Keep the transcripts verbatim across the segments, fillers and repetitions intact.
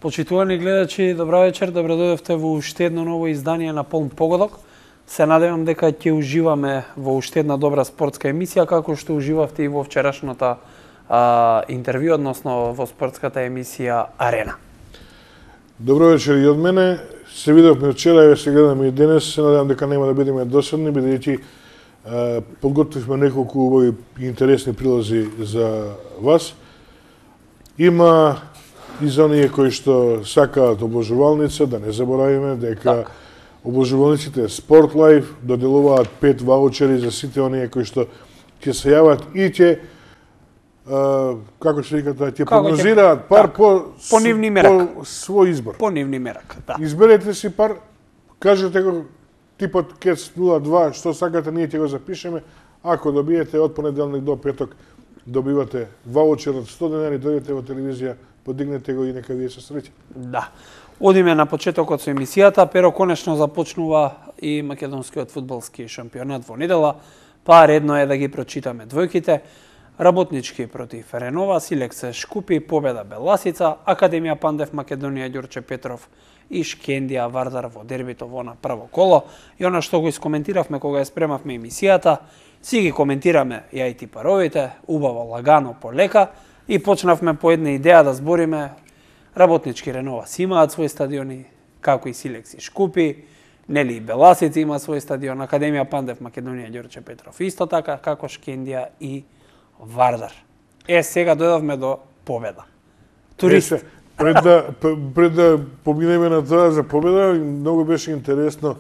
Почитувани гледачи, добра вечер, добро дојдовте во уште едно ново издание на Полн погодок. Се надевам дека ќе уживаме во уште една добра спортска емисија, како што уживавте и во вчерашната а, интервју, односно во спортската емисија Арена. Добро вечер и од мене. Се видовме вчера и се гледаме и денес. Се надевам дека нема да бидеме досадни, бидејќи подготвивме неколку убави и интересни прилози за вас. Има и за оние кои што сакаат обложувалница, да не заборавиме дека так. Обложувалниците Sport Life доделуваат пет ваучери за сите оние кои што ќе се јават и ќе како се вика тоа, ќе прогнозираат пар так. по по нивни мерак, по свој избор. По нивни мерак, да. Изберете си пар, кажете го типот кец нула два, што сакате, ние ќе го запишеме. Ако добиете од понеделник до петок, добивате ваучер од сто денари, дојдете во телевизија, подигнете го и нека вие се среќа. Да. Одиме на почетокот со емисијата, pero конечно започнува и македонскиот фудбалски шампионат во недела, па редно е да ги прочитаме двојките. Работнички против Ренова, Силексе Шкупи, победа Беласица, Академија Пандев Македонија Ѓорче Петров и Шкендија Вардар во дербито во на прво коло. И она што го искоментиравме кога ја спремавме емисијата, си ги коментираме ја и ти паровите, убаво, лагано, полека, и почнавме по една идеја да збориме. Работнички Ренова си имаат своји стадиони, како и Силекси Шкупи, нели и Беласица има свој стадион, Академија Пандев Македонија Ѓорче Петров исто така, како Шкендија и Вардар. Е, сега дојдовме до победа. Турист. Е, пред да пред да поминеме на тоа за победа, многу беше интересно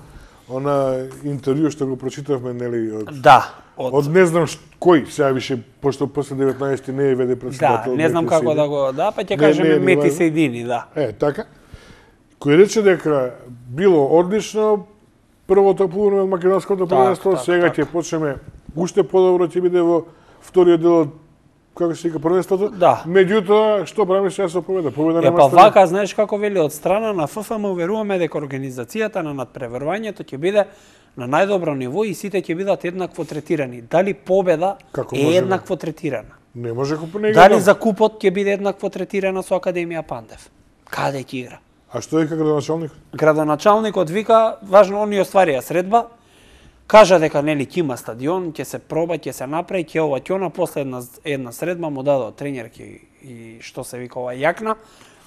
она интервју што го прочитавме, нели, од Да, од, од не знам ш, кој, сега више пошто после деветнаесети не е веде председател. Да, не знам како да го, да, па ќе кажеме Мети Сејдини, да. Е, така. Кој рече дека било одлично првото плување од македонското првенство, так, сега ќе почнеме уште подобро, ќе биде во вториот дел од, како се вика, првенството. Да. Меѓутоа, што правиме сега со победа? Победа нема. Е, па вака, знаеш како вели, од страна на ФФМ уверуваме дека организацијата на надпреварувањето ќе биде на најдобро ниво и сите ќе бидат еднакво третирани. Дали победа како е еднакво третирана? Не може како не. Дали за купот ќе биде еднакво третирана со Академија Пандев? Каде ќе игра? А што вика градоначалник? Градоначалникот вика, важно они остварија средба. Кажа дека нели ќе има стадион, ќе се проба, ќе се направи, ќе ова ќе она, после една една средба му дадо тренерки и што се вика ова јакна,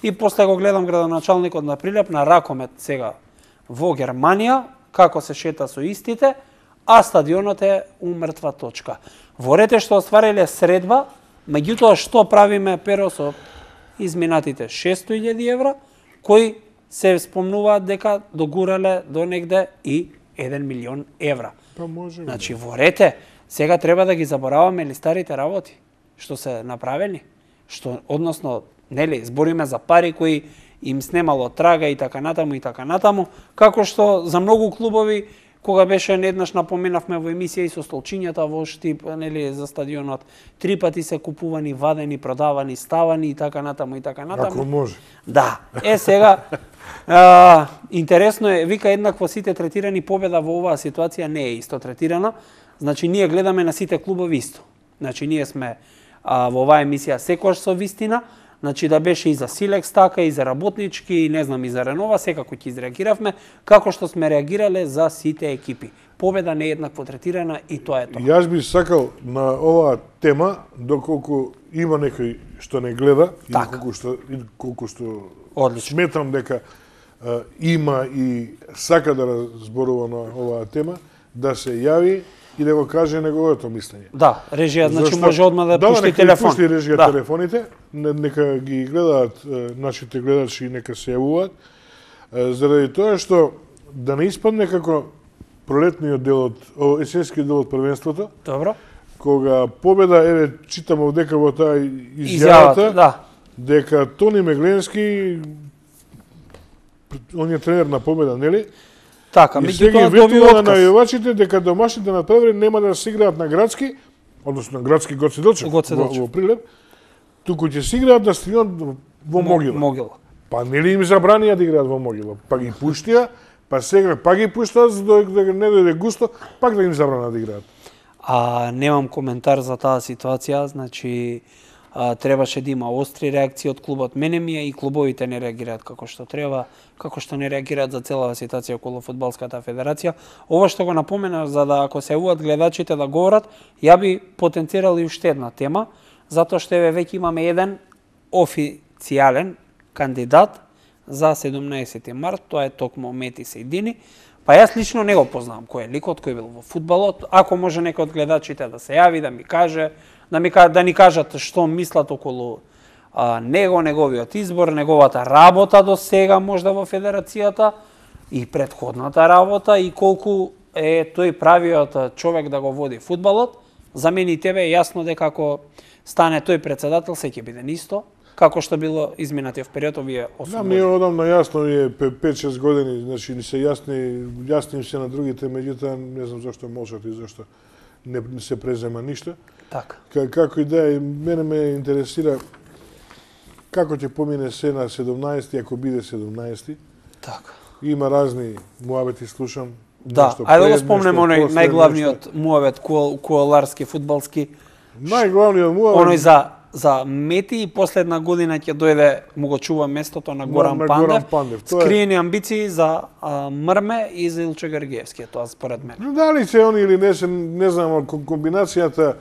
и после го гледам градоначалникот на прилеп на ракомет сега во Германија, како се шета со истите, а стадионот е умртва точка. Ворете што оствариле средба, меѓутоа што правиме перо со изминатите шестстотини илјади евра, кои се спомнуваат дека догурале до негде и еден милион евра. Па може. Значи, ворете, сега треба да ги забораваме ли старите работи што се направени, што односно, нели, збориме за пари кои им снемало трага и така натаму и така натаму, како што за многу клубови кога беше еднаш напоменавме во емисија и со столчињата во Штип, нели, за стадионот, три пати се купувани, вадени, продавани, ставани и така натаму и така натаму. Ако може. Да. Е сега а, интересно е, вика еднакво сите третирани, победа во оваа ситуација не е исто третирана. Значи ние гледаме на сите клубови исто. Значи ние сме а, во оваа емисија секогаш со вистина. Значи да беше и за Силекс така, и за Работнички, и не знам, и за Ренова, секако ќе изреагиравме, како што сме реагирале за сите екипи. Победа не е еднакво третирана и тоа е тоа. Јас би сакал на оваа тема, доколку има некој што не гледа, и колку што, и колку што Одлично. Сметам дека а, има и сака да разборува на оваа тема, да се јави и да го каже неговото мислење. Да, режија, значи Зашто... може одма да, да пушти телефон. Да, пушти режија да. телефоните, нека ги гледаат нашите гледачи и нека се јавуваат, заради тоа што да не испадне како пролетниот дел од, есенскиот дел од првенството. Добро. Кога победа, еве, читам овдека во таа изјавата, да. дека Тони Мегленски, он е тренер на победа, нели? Така, меѓутоа добива на најавачите дека домашните натпревари нема да се играат на градски, односно на градски Гоце Делчев во, во Прилеп, туку ќе се играат на стадион во Могила. Могила. Па нели им забранија да играат во Могила? Па ги пуштија, па сега па ги пуштаат за да не дојде густо, пак да им забранат да играат. А немам коментар за таа ситуација, значи а, требаше да има остри реакции од клубот. Мене ми е и клубовите не реагираат како што треба, како што не реагираат за целава ситуација околу фудбалската федерација. Ова што го напоменаш, за да ако се уват гледачите да говорат, ја би потенцирал и уште една тема, затоа што еве веќе имаме еден официјален кандидат за седумнаесети март, тоа е токму Мети Сејдини. Па јас лично не го познавам кој е ликот, кој бил во фудбалот. Ако може некој од гледачите да се јави, да ми каже, да ми да ни кажат што мислат околу а, него, неговиот избор, неговата работа до сега можда во федерацијата и претходната работа и колку е тој правиот човек да го води фудбалот. За мене и тебе е јасно дека ако стане тој председател, се ќе биде исто како што било изминатиот период овие осум да, години. ние одамна јасно е пет-шест години, значи ни се јасни, јасни им се на другите, меѓутоа не знам зашто молчат и зашто не, не се презема ништо. Така. Како и да е, мене ме интересира како ќе помине се на седумнаесети, ако биде седумнаесети. Така. Има разни муабети, слушам. Да, ајде да го спомнем оној најглавниот муабет коаларски фудбалски. Најглавниот муабет. Оној за за Мети и последна година ќе дојде, му го чува местото на Горан на, на Пандев. Горан Пандев. Скриени амбиции за а, Мрме и за Илче Гергиевски, тоа според мене. Дали се они или не се, не знам, комбинацијата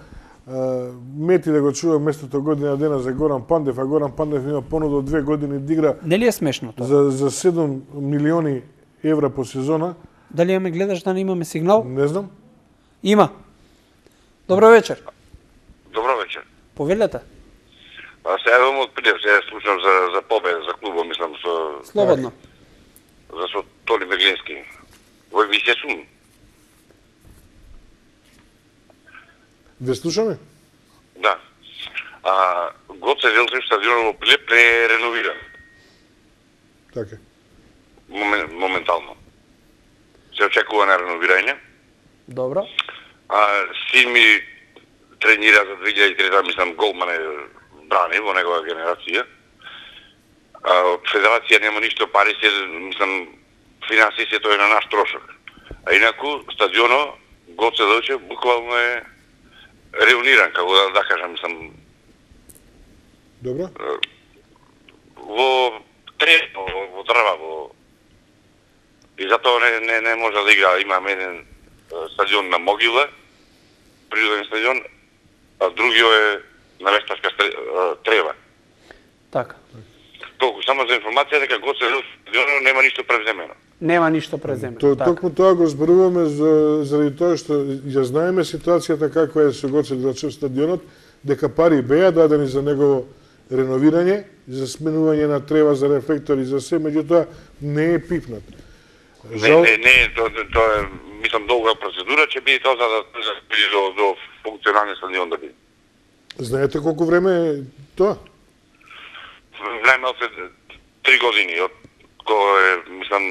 а, Мети да го чува местото година дена за Горан Пандев, а Горан Пандев има понудо две години да игра. Нели е смешно тоа? За, за седум милиони евра по сезона. Дали ја ме гледаш да не имаме сигнал? Не знам. Има. Добро вечер. Добро вечер. Повелете. Па се јавам од прилеп, се слушам за за победа за клубот, мислам со Слободно. За со Толи Беглински. Вој ви се сум. Ве слушаме? Да. А Гоце Велтрим стадионот во Прилеп не е реновиран. Така. Момен, моментално. Се очекува на реновирање. Добро. А син ми тренира за две илјади и трета, мислам, голман е брани во негова генерација. А, федерација нема ништо пари, се, мислам, финансија тоа е на наш трошок. А инаку, стадионот, Гоце Делче, буквално е реуниран, како да, да кажам, мислам, Добро. во трет, во, во дрва, во... И затоа не, не, не може да игра. Имаме еден стадион на Могила, природен стадион, а другиот е на Вештарска трева. Така. Толку само за информација дека Гоце стадионот нема ништо превземено. Нема ништо преземено. То, така. Токму тоа го зборуваме за, заради тоа што ја знаеме ситуацијата каква е со Гоце Делчев стадионот, дека пари беа дадени за негово реновирање, за сменување на трева, за рефлектори, за се, меѓутоа не е пипнат. Жал... Не, не, не, тоа то е, мислам, долга процедура, ќе биде тоа за да за да биде до, до функционален стадион да биде. Знаете колку време е тоа? Најмалку три години од кога е, мислам,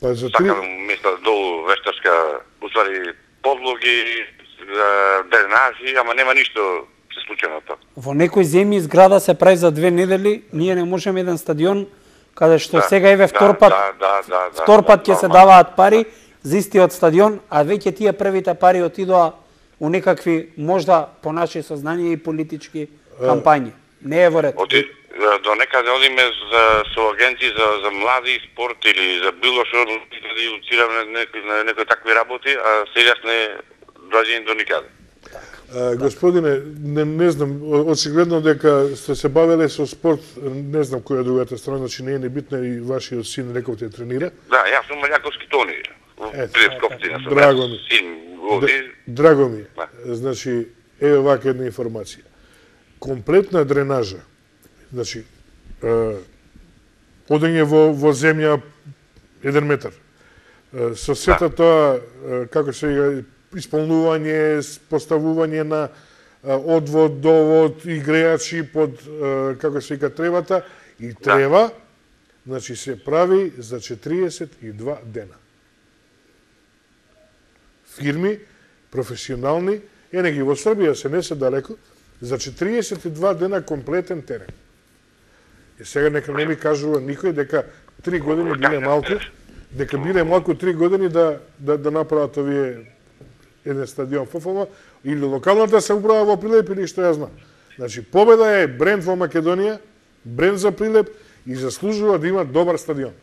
Па за три... сакам места долу Вештарска, уствари подлоги, дренажи, ама нема ништо се случи на тоа. Во некои земји зграда се прави за две недели, ние не можеме еден стадион каде што да, сега еве втор пат, да, да, да, да, втор пат ќе да, се да, даваат пари за истиот стадион, а веќе тие првите пари отидоа у некакви, можда по наше сознание и политички кампањи. Не е во ред. Оди, до некаде одиме за, со агенти за, за млади спорт или за било што да иницираме некои, некои такви работи, а сега не доаѓање до никаде. А, господине, не, не знам, очигледно дека сте се бавеле со спорт, не знам која е другата страна, значи не е небитна и вашиот син рековте тренира. Да, јас сум Маљаковски Тони. Прилепска општина сум. Драго ми. Син води. Драго ми. Да. Значи, еве вака една информација. Комплетна дренажа, значи, е, одење во, во земја еден метар, е, со сета да. тоа, е, како се вика, исполнување, поставување на одвод, довод и грејачи под, како се вика, тревата и трева, да. Значи се прави за четириесет и два дена. Фирми, професионални, е не ги во Србија се не се далеко, за четириесет и два дена комплетен терен. И сега нека не ми кажува никој дека три години биле малку, дека биле малку три години да, да, да направат овие еден стадион ФФМ или локалната се управа во Прилеп или што ја знам. Значи, победа е бренд во Македонија, бренд за Прилеп и заслужува да има добар стадион.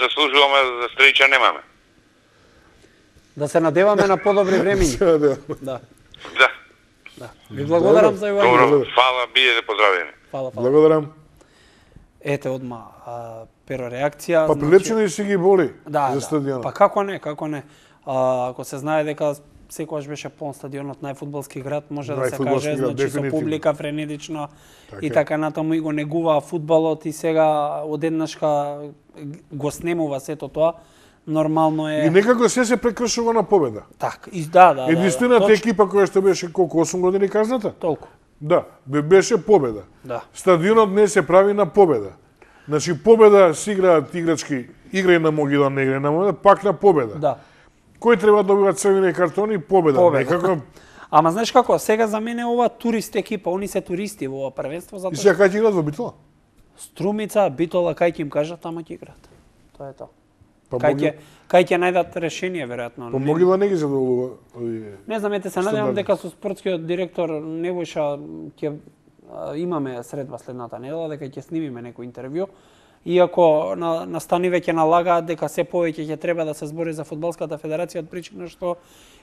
Заслужуваме, за среќа немаме. Да се надеваме на подобри времиња. Се надеваме. Да. Да. Да. Ви благодарам за јавување. Добро, фала, биете поздравени. Фала, фала. Благодарам. Ете одма а, перо реакција. Па Прилепчани си ги боли да, за да. стадионот. Па како не, како не. А, ако се знае дека секогаш беше полн стадионот, најфудбалски град, може да се каже, град, значи со публика френетично така и така натаму и го негуваа фудбалот и сега одеднашка го снемува сето тоа. Нормално е. И некако се се прекршува на победа. Така, и да, да. Единствената да, да, екипа која што беше колку осум години казната? Толку. Да, беше победа. Да. Стадионот не се прави на победа. Значи победа си играат играчки, играј на Могила, не играј на Могила, пак на победа. Да. Кој треба да добива црвени картони? Победа. Победа. Некако... Ама знаеш како, сега за мене ова турист екипа, они се туристи во ова првенство, затоа И сега кај ќе играат во Битола? Струмица, Битола, кај ќе им кажат, тама ќе играат. Тоа е тоа. Па Кај Могила... ќе кај ќе најдат решение веројатно. Па Могила не ги задоволува овие. Не знам, ете се надевам дека со спортскиот директор Невојша ќе имаме средба следната недела, дека ќе снимиме некој интервју. Иако на, настани веќе налагаат дека се повеќе ќе треба да се збори за фудбалската федерација од причина што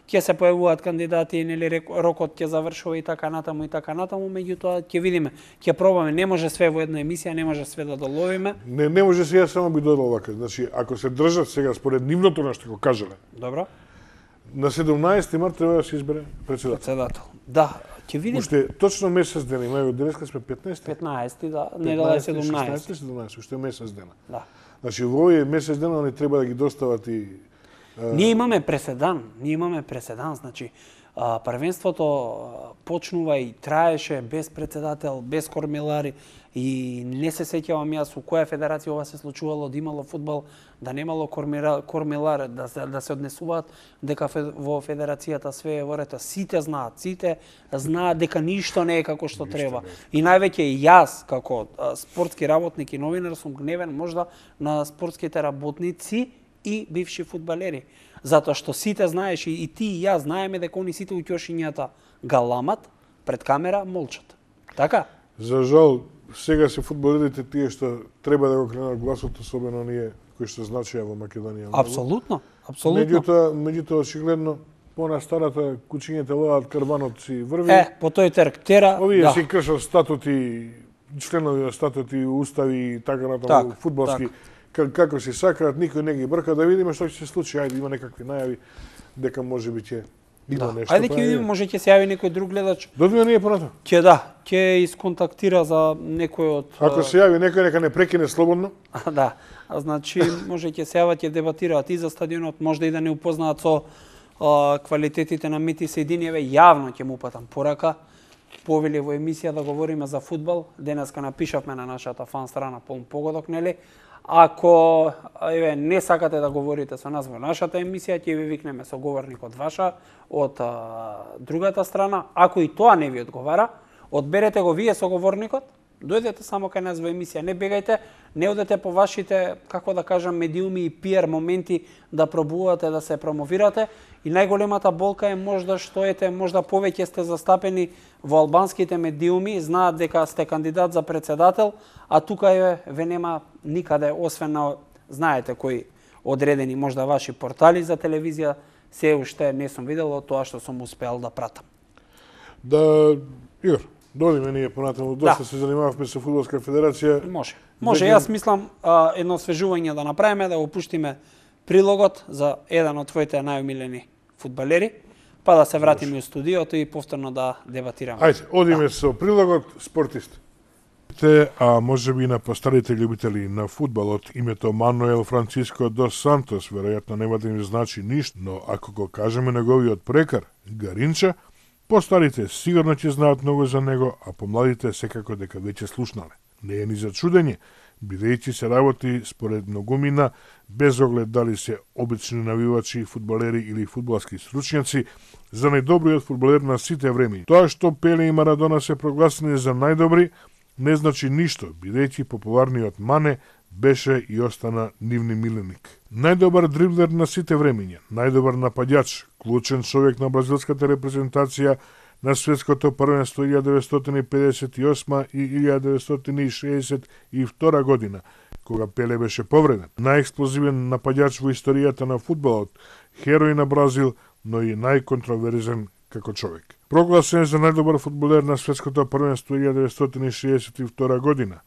ќе се појавуваат кандидати, нели рокот ќе завршува и така натаму и така натаму, меѓутоа ќе видиме, ќе пробаме, не може све во една емисија, не може све да доловиме. Не, не може сега само би додал вака. Значи, ако се држат сега според нивното на што го кажале. Добро. На седумнаесети март треба да се избере председател. Председател. Да, ќе видиме. Уште точно месец дена има, ево денеска сме петнаесети. петнаесети, да, недела е седумнаесети. шеснаесети, седумнаесети, уште месец дена. Да. Значи во овој месец дена они треба да ги достават и Ние имаме преседан, ние имаме преседан, значи а, првенството а, почнува и траеше без председател, без кормилари и не се сеќавам јас у која федерација ова се случувало да имало фудбал, да немало кормира, кормилар, да се, да се однесуваат дека фе, во федерацијата све е во ред. Сите знаат, сите знаат дека ништо не е како што ништо треба. И највеќе и јас како а, спортски работник и новинар сум гневен можда на спортските работници и бивши фудбалери. Затоа што сите знаеш и, и ти и јас знаеме дека они сите уќошињата галамат пред камера молчат. Така? За жал, сега се фудбалерите тие што треба да го кренат гласот, особено ние кои што значеа во Македонија. Апсолутно, апсолутно. Меѓутоа, меѓутоа очигледно по на старата кучињата лоат карбанот си врви. Е, по тој терк тера, овие да. си кршат статути, членови на статути, устави и така натаму Так, фудбалски. так. Како се сакаат, никој не ги брка, да видиме што ќе се случи. Ајде, има некакви најави дека може би ќе има Да. нешто. Ајде па ќе е. видиме, може ќе се јави некој друг гледач. Додиме ние понатаму. Ќе да, ќе исконтактира за некој од Ако се јави некој, нека не прекине слободно. А, да. А, значи може ќе се јават, ќе дебатираат и за стадионот, може и да не упознаат со а, квалитетите на Мити Сејдиниеве, јавно ќе му упатам порака. Повели во емисија да говориме за фудбал. Денеска напишавме на нашата фан страна полн погодок, нели? Ако еве не сакате да говорите со нас во нашата емисија, ќе ви викнеме соговорник од ваша, од а, другата страна. Ако и тоа не ви одговара, одберете го вие соговорникот, дојдете само кај нас во емисија, не бегајте, не одете по вашите, како да кажам, медиуми и пиар моменти да пробувате да се промовирате. И најголемата болка е можда што ете, можда повеќе сте застапени во албанските медиуми, знаат дека сте кандидат за председател, а тука е ве нема никаде, освен на, знаете кои одредени можда ваши портали за телевизија, се уште не сум видел тоа што сум успеал да пратам. Да, Игор, додиме ние понатаму, доста Да. се занимававме со фудбалска федерација. Може. Може, Дека- јас мислам а, едно освежување да направиме, да го пуштиме прилогот за еден од твоите најомилени фудбалери, па да се вратиме у студиото и повторно да дебатираме. Ајде, одиме со прилогот спортист. Те, а може би на постарите љубители на фудбалот, името Мануел Франциско дос Сантос веројатно нема да им значи ништо, но ако го кажеме неговиот прекар, Гаринча, постарите сигурно ќе знаат многу за него, а помладите секако дека веќе слушнале. Не е ни за чудење, бидејќи се работи според многумина, без оглед дали се обични навивачи, фудбалери или фудбалски стручњаци, за најдобриот фудбалер на сите времења. Тоа што Пеле и Марадона се прогласени за најдобри, не значи ништо, бидејќи популарниот Мане беше и остана нивни миленик. Најдобар дриблер на сите времења, најдобар нападјач, клучен човек на бразилската репрезентација, на светското првенство илјада деветстотини педесет и осма и илјада деветстотини шеесет и втора година, кога Пеле беше повреден. Најексплозивен нападјач во историјата на фудбалот, херој на Бразил, но и најконтроверзен како човек. Прогласен за најдобар фудбалер на светското првенство илјада деветстотини шеесет и втора година,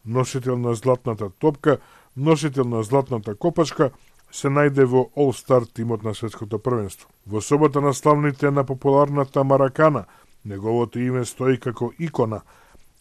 носител на златната топка, носител на златната копачка, се најде во All-Star тимот на светското првенство. Во собота на славните на популарната Маракана, неговото име стои како икона,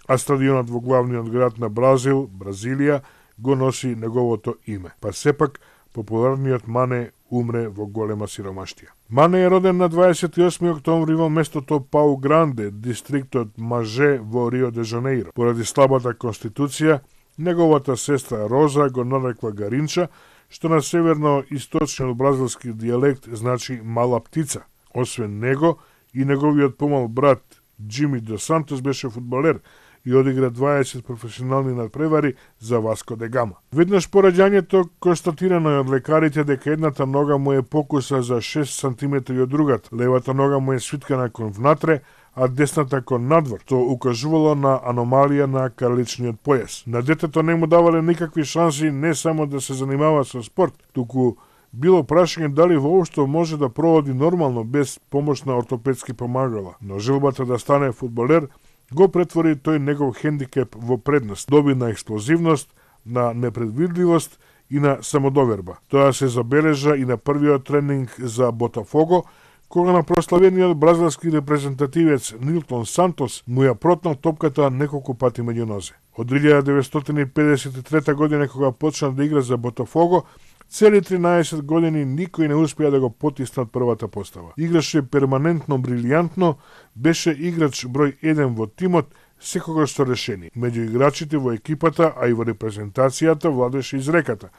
а стадионот во главниот град на Бразил, Бразилија, го носи неговото име. Па сепак, популарниот Мане умре во голема сиромаштија. Мане е роден на дваесет и осми октомври во местото Пау Гранде, дистриктот Маже во Рио де Жанеиро. Поради слабата конституција, неговата сестра Роза го нарекла Гаринча, што на северно-источниот бразилски дијалект значи мала птица. Освен него, и неговиот помал брат Джими Дос Сантос беше фудбалер и одигра дваесет професионални надпревари за Васко де Гама. Веднаш по раѓањето констатирано е од лекарите дека едната нога му е покуса за шест сантиметри од другата, левата нога му е свиткана кон внатре, а десната кон надвор, што укажувало на аномалија на карличниот појас. На детето не му давале никакви шанси не само да се занимава со спорт, туку било прашање дали воопшто може да проводи нормално без помош на ортопедски помагала. Но желбата да стане фудбалер го претвори тој негов хендикеп во предност. Доби на експлозивност, на непредвидливост и на самодоверба. Тоа се забележа и на првиот тренинг за Ботафого, кога на прославениот бразилски репрезентативец Нилтон Сантос му ја протнал топката неколку пати меѓу нозе. Од илјада деветстотини педесет и трета година, кога почна да игра за Ботафого, цели тринаесет години никој не успеа да го потисне од првата постава. Играше перманентно брилијантно, беше играч број еден во тимот, секогаш со решение. Меѓу играчите во екипата, а и во репрезентацијата владеше изреката: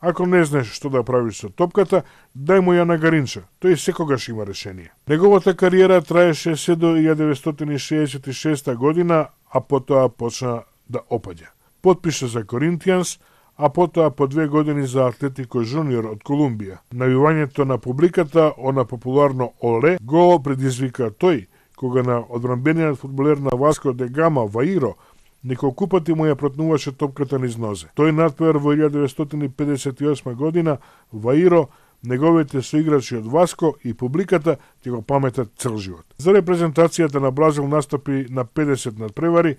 ако не знаеш што да правиш со топката, дај му ја на Гаринча, тој секогаш има решение. Неговата кариера траеше се до илјада деветстотини шеесет и шеста година, а потоа почна да опаѓа. Потпиша за Коринтијанс, а потоа по две години за Атлетико Жуниор од Колумбија. Навивањето на публиката, она популарно Оле, го предизвика тој, кога на одбранбениот фудбалер на Васко де Гама, Ваиро, неколку пати му ја протнуваше топката низ нозе. Тој надпревар во илјада деветстотини педесет и осма година, Ваиро, неговите соиграчи од Васко и публиката ќе го паметат цел живот. За репрезентацијата на Бразил настапи на педесет надпревари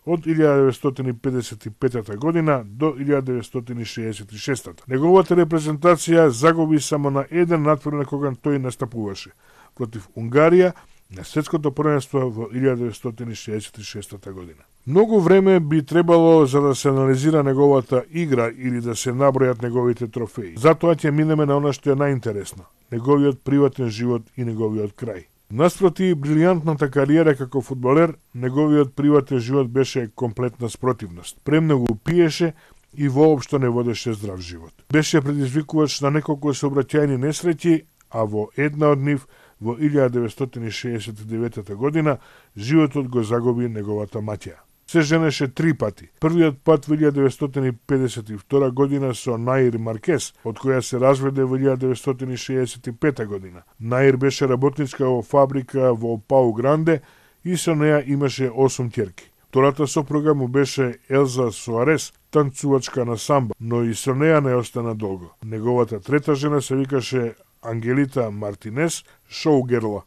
од илјада деветстотини педесет и пета година до илјада деветстотини шеесет и шеста. Неговата репрезентација загуби само на еден надпревар кога тој настапуваше против Унгарија на светското првенство во илјада деветстотини шеесет и шеста година. Многу време би требало за да се анализира неговата игра или да се набројат неговите трофеи. Затоа ќе минеме на она што е најинтересно – неговиот приватен живот и неговиот крај. Наспроти брилијантната кариера како фудбалер, неговиот приватен живот беше комплетна спротивност. Премногу пиеше и воопшто не водеше здрав живот. Беше предизвикувач на неколку сообраќајни несреќи, а во една од нив во илјада деветстотини шеесет и девета година животот го загуби неговата маќа. Се женеше три пати. Првиот пат во илјада деветстотини педесет и втора година со Наир Маркес, од која се разведе во илјада деветстотини шеесет и пета година. Наир беше работничка во фабрика во Пау Гранде и со неја имаше осум ќерки. Втората сопруга му беше Елза Суарес, танцувачка на самба, но и со неја не остана долго. Неговата трета жена се викаше Ангелита Мартинес, шоугерла.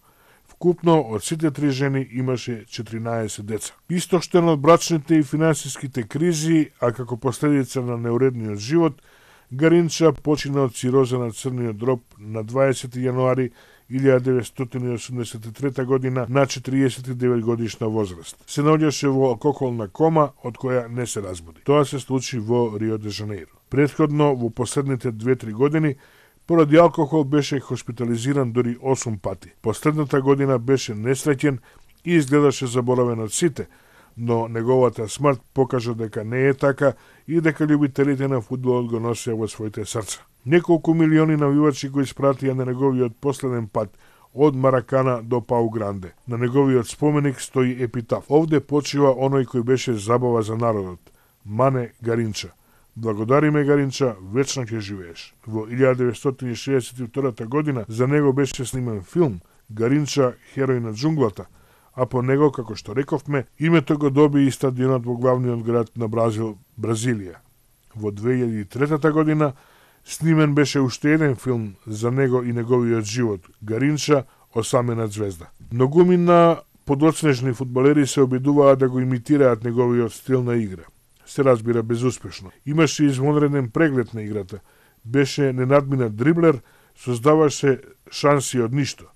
Вкупно од сите три жени имаше четиринаесет деца. Истоштен од брачните и финансиските кризи, а како последица на неуредниот живот, Гаринча почина од цироза на црниот дроб на дваесети јануари илјада деветстотини осумдесет и трета година на четириесет и девет годишна возраст. Се наоѓаше во алкохолна кома од која не се разбуди. Тоа се случи во Рио де Жанеиро. Предходно, во последните две-три години, поради алкохол беше хоспитализиран дори осум пати. Последната година беше несреќен и изгледаше заборавен од сите, но неговата смрт покажа дека не е така и дека љубителите на фудбалот го носеа во своите срца. Неколку милиони навивачи го испратија на неговиот последен пат од Маракана до Пау Гранде. На неговиот споменик стои епитаф. Овде почива оној кој беше забава за народот, Мане Гаринча. Благодариме, Гаринча, вечно ќе живееш. Во илјада деветстотини шеесет и втора година за него беше снимен филм Гаринча, херој на џунглата, а по него, како што рековме, името го доби и стадионот во главниот град на Бразил, Бразилија. Во две илјади и трета година снимен беше уште еден филм за него и неговиот живот, Гаринча, осамена звезда. Многумина подоцнежни фудбалери се обидуваа да го имитираат неговиот стил на игра. Се разбира безуспешно. Имаше извонреден преглед на играта. Беше ненадминат дриблер, создаваше шанси од ништо.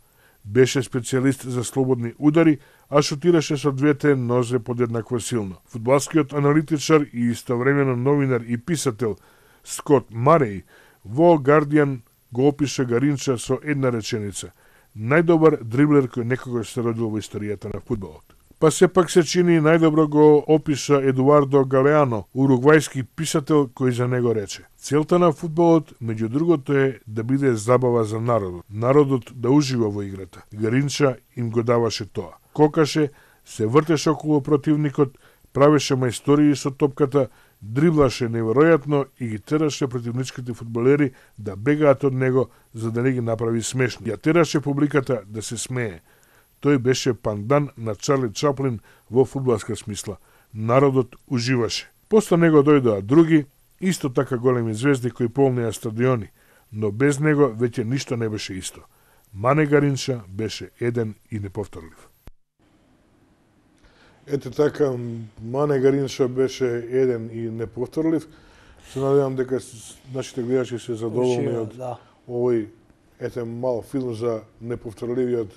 Беше специјалист за слободни удари, а шутираше со двете нозе подеднакво силно. Фудбалскиот аналитичар и истовремено новинар и писател Скот Мареј во Guardian го опиша Гаринча со една реченица: најдобар дриблер кој некогаш се родил во историјата на фудбалот. Па сепак се чини најдобро го опиша Едуардо Галеано, уругвајски писател кој за него рече: целта на фудбалот, меѓу другото, е да биде забава за народот. Народот да ужива во играта. Гаринча им го даваше тоа. Кокаше, се вртеше околу противникот, правеше мајстории со топката, дриблаше неверојатно и ги тераше противничките фудбалери да бегаат од него за да не ги направи смешни. Ја тераше публиката да се смее. Тој беше пандан на Чарли Чаплин во фудбалска смисла. Народот уживаше. После него дојдоа други, исто така големи звезди кои полнеа стадиони, но без него веќе ништо не беше исто. Мане Гаринча беше еден и неповторлив. Ете така, Мане Гаринча беше еден и неповторлив. Се надевам дека нашите гледачи се задоволни од да. овој ете мал филм за неповторливиот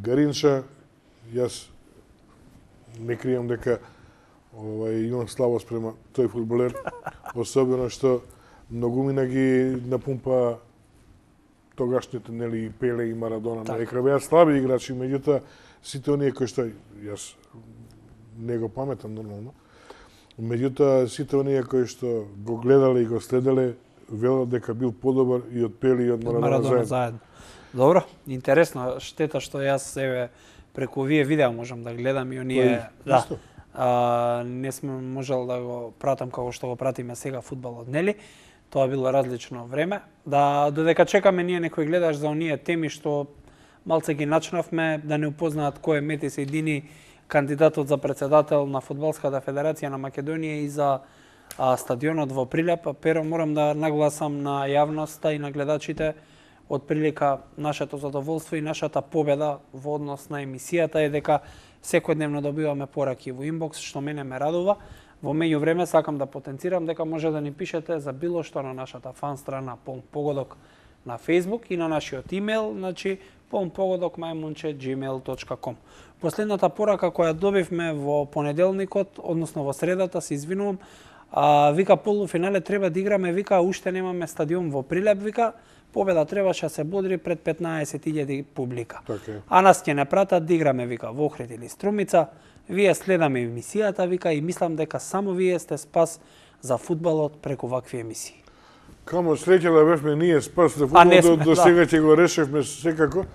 Гаринча. Јас не кријам дека овај имам слабост према тој фудбалер, особено што многумина ги напумпа тогашните, нели, Пеле и Марадона на екран. Беа слаби играчи, меѓутоа сите оние кои што јас не го паметам нормално. Меѓутоа сите оние кои што го гледале и го следеле велат дека бил подобар и од Пеле и од Марадона, Марадона заедно. заедно. Добро, интересно, штета што јас себе преку овие видеа можам да гледам и оние, да. А, не сме можел да го пратам како што го пратиме сега фудбалот, нели? Тоа било различно време. Да, додека чекаме ние некој гледаш за оние теми што малце ги начнавме, да не упознаат кој е Мети Сејдини, кандидатот за председател на Фудбалската федерација на Македонија и за а, стадионот во Прилеп. Перо морам да нагласам на јавноста и на гледачите од прилика нашето задоволство и нашата победа во однос на емисијата е дека секојдневно добиваме пораки во инбокс, што мене ме радува. Во меѓувреме сакам да потенцирам дека може да ни пишете за било што на нашата фан страна Полн Погодок на Facebook и на нашиот имејл, значи полнпогодок мајмунче gmail точка com. Последната порака која добивме во понеделникот, односно во средата, се извинувам, а, вика полуфинале треба да играме, вика уште немаме стадион во Прилеп, вика победа требаше да се бодри пред петнаесет илјади публика. Така. А нас ќе не пратат да играме, вика, во Охрид или Струмица. Вие следаме емисијата, вика, и мислам дека само вие сте спас за фудбалот преку вакви емисии. Камо среќа да бевме ние спас за фудбалот, до, до да. сега ќе го решевме секако.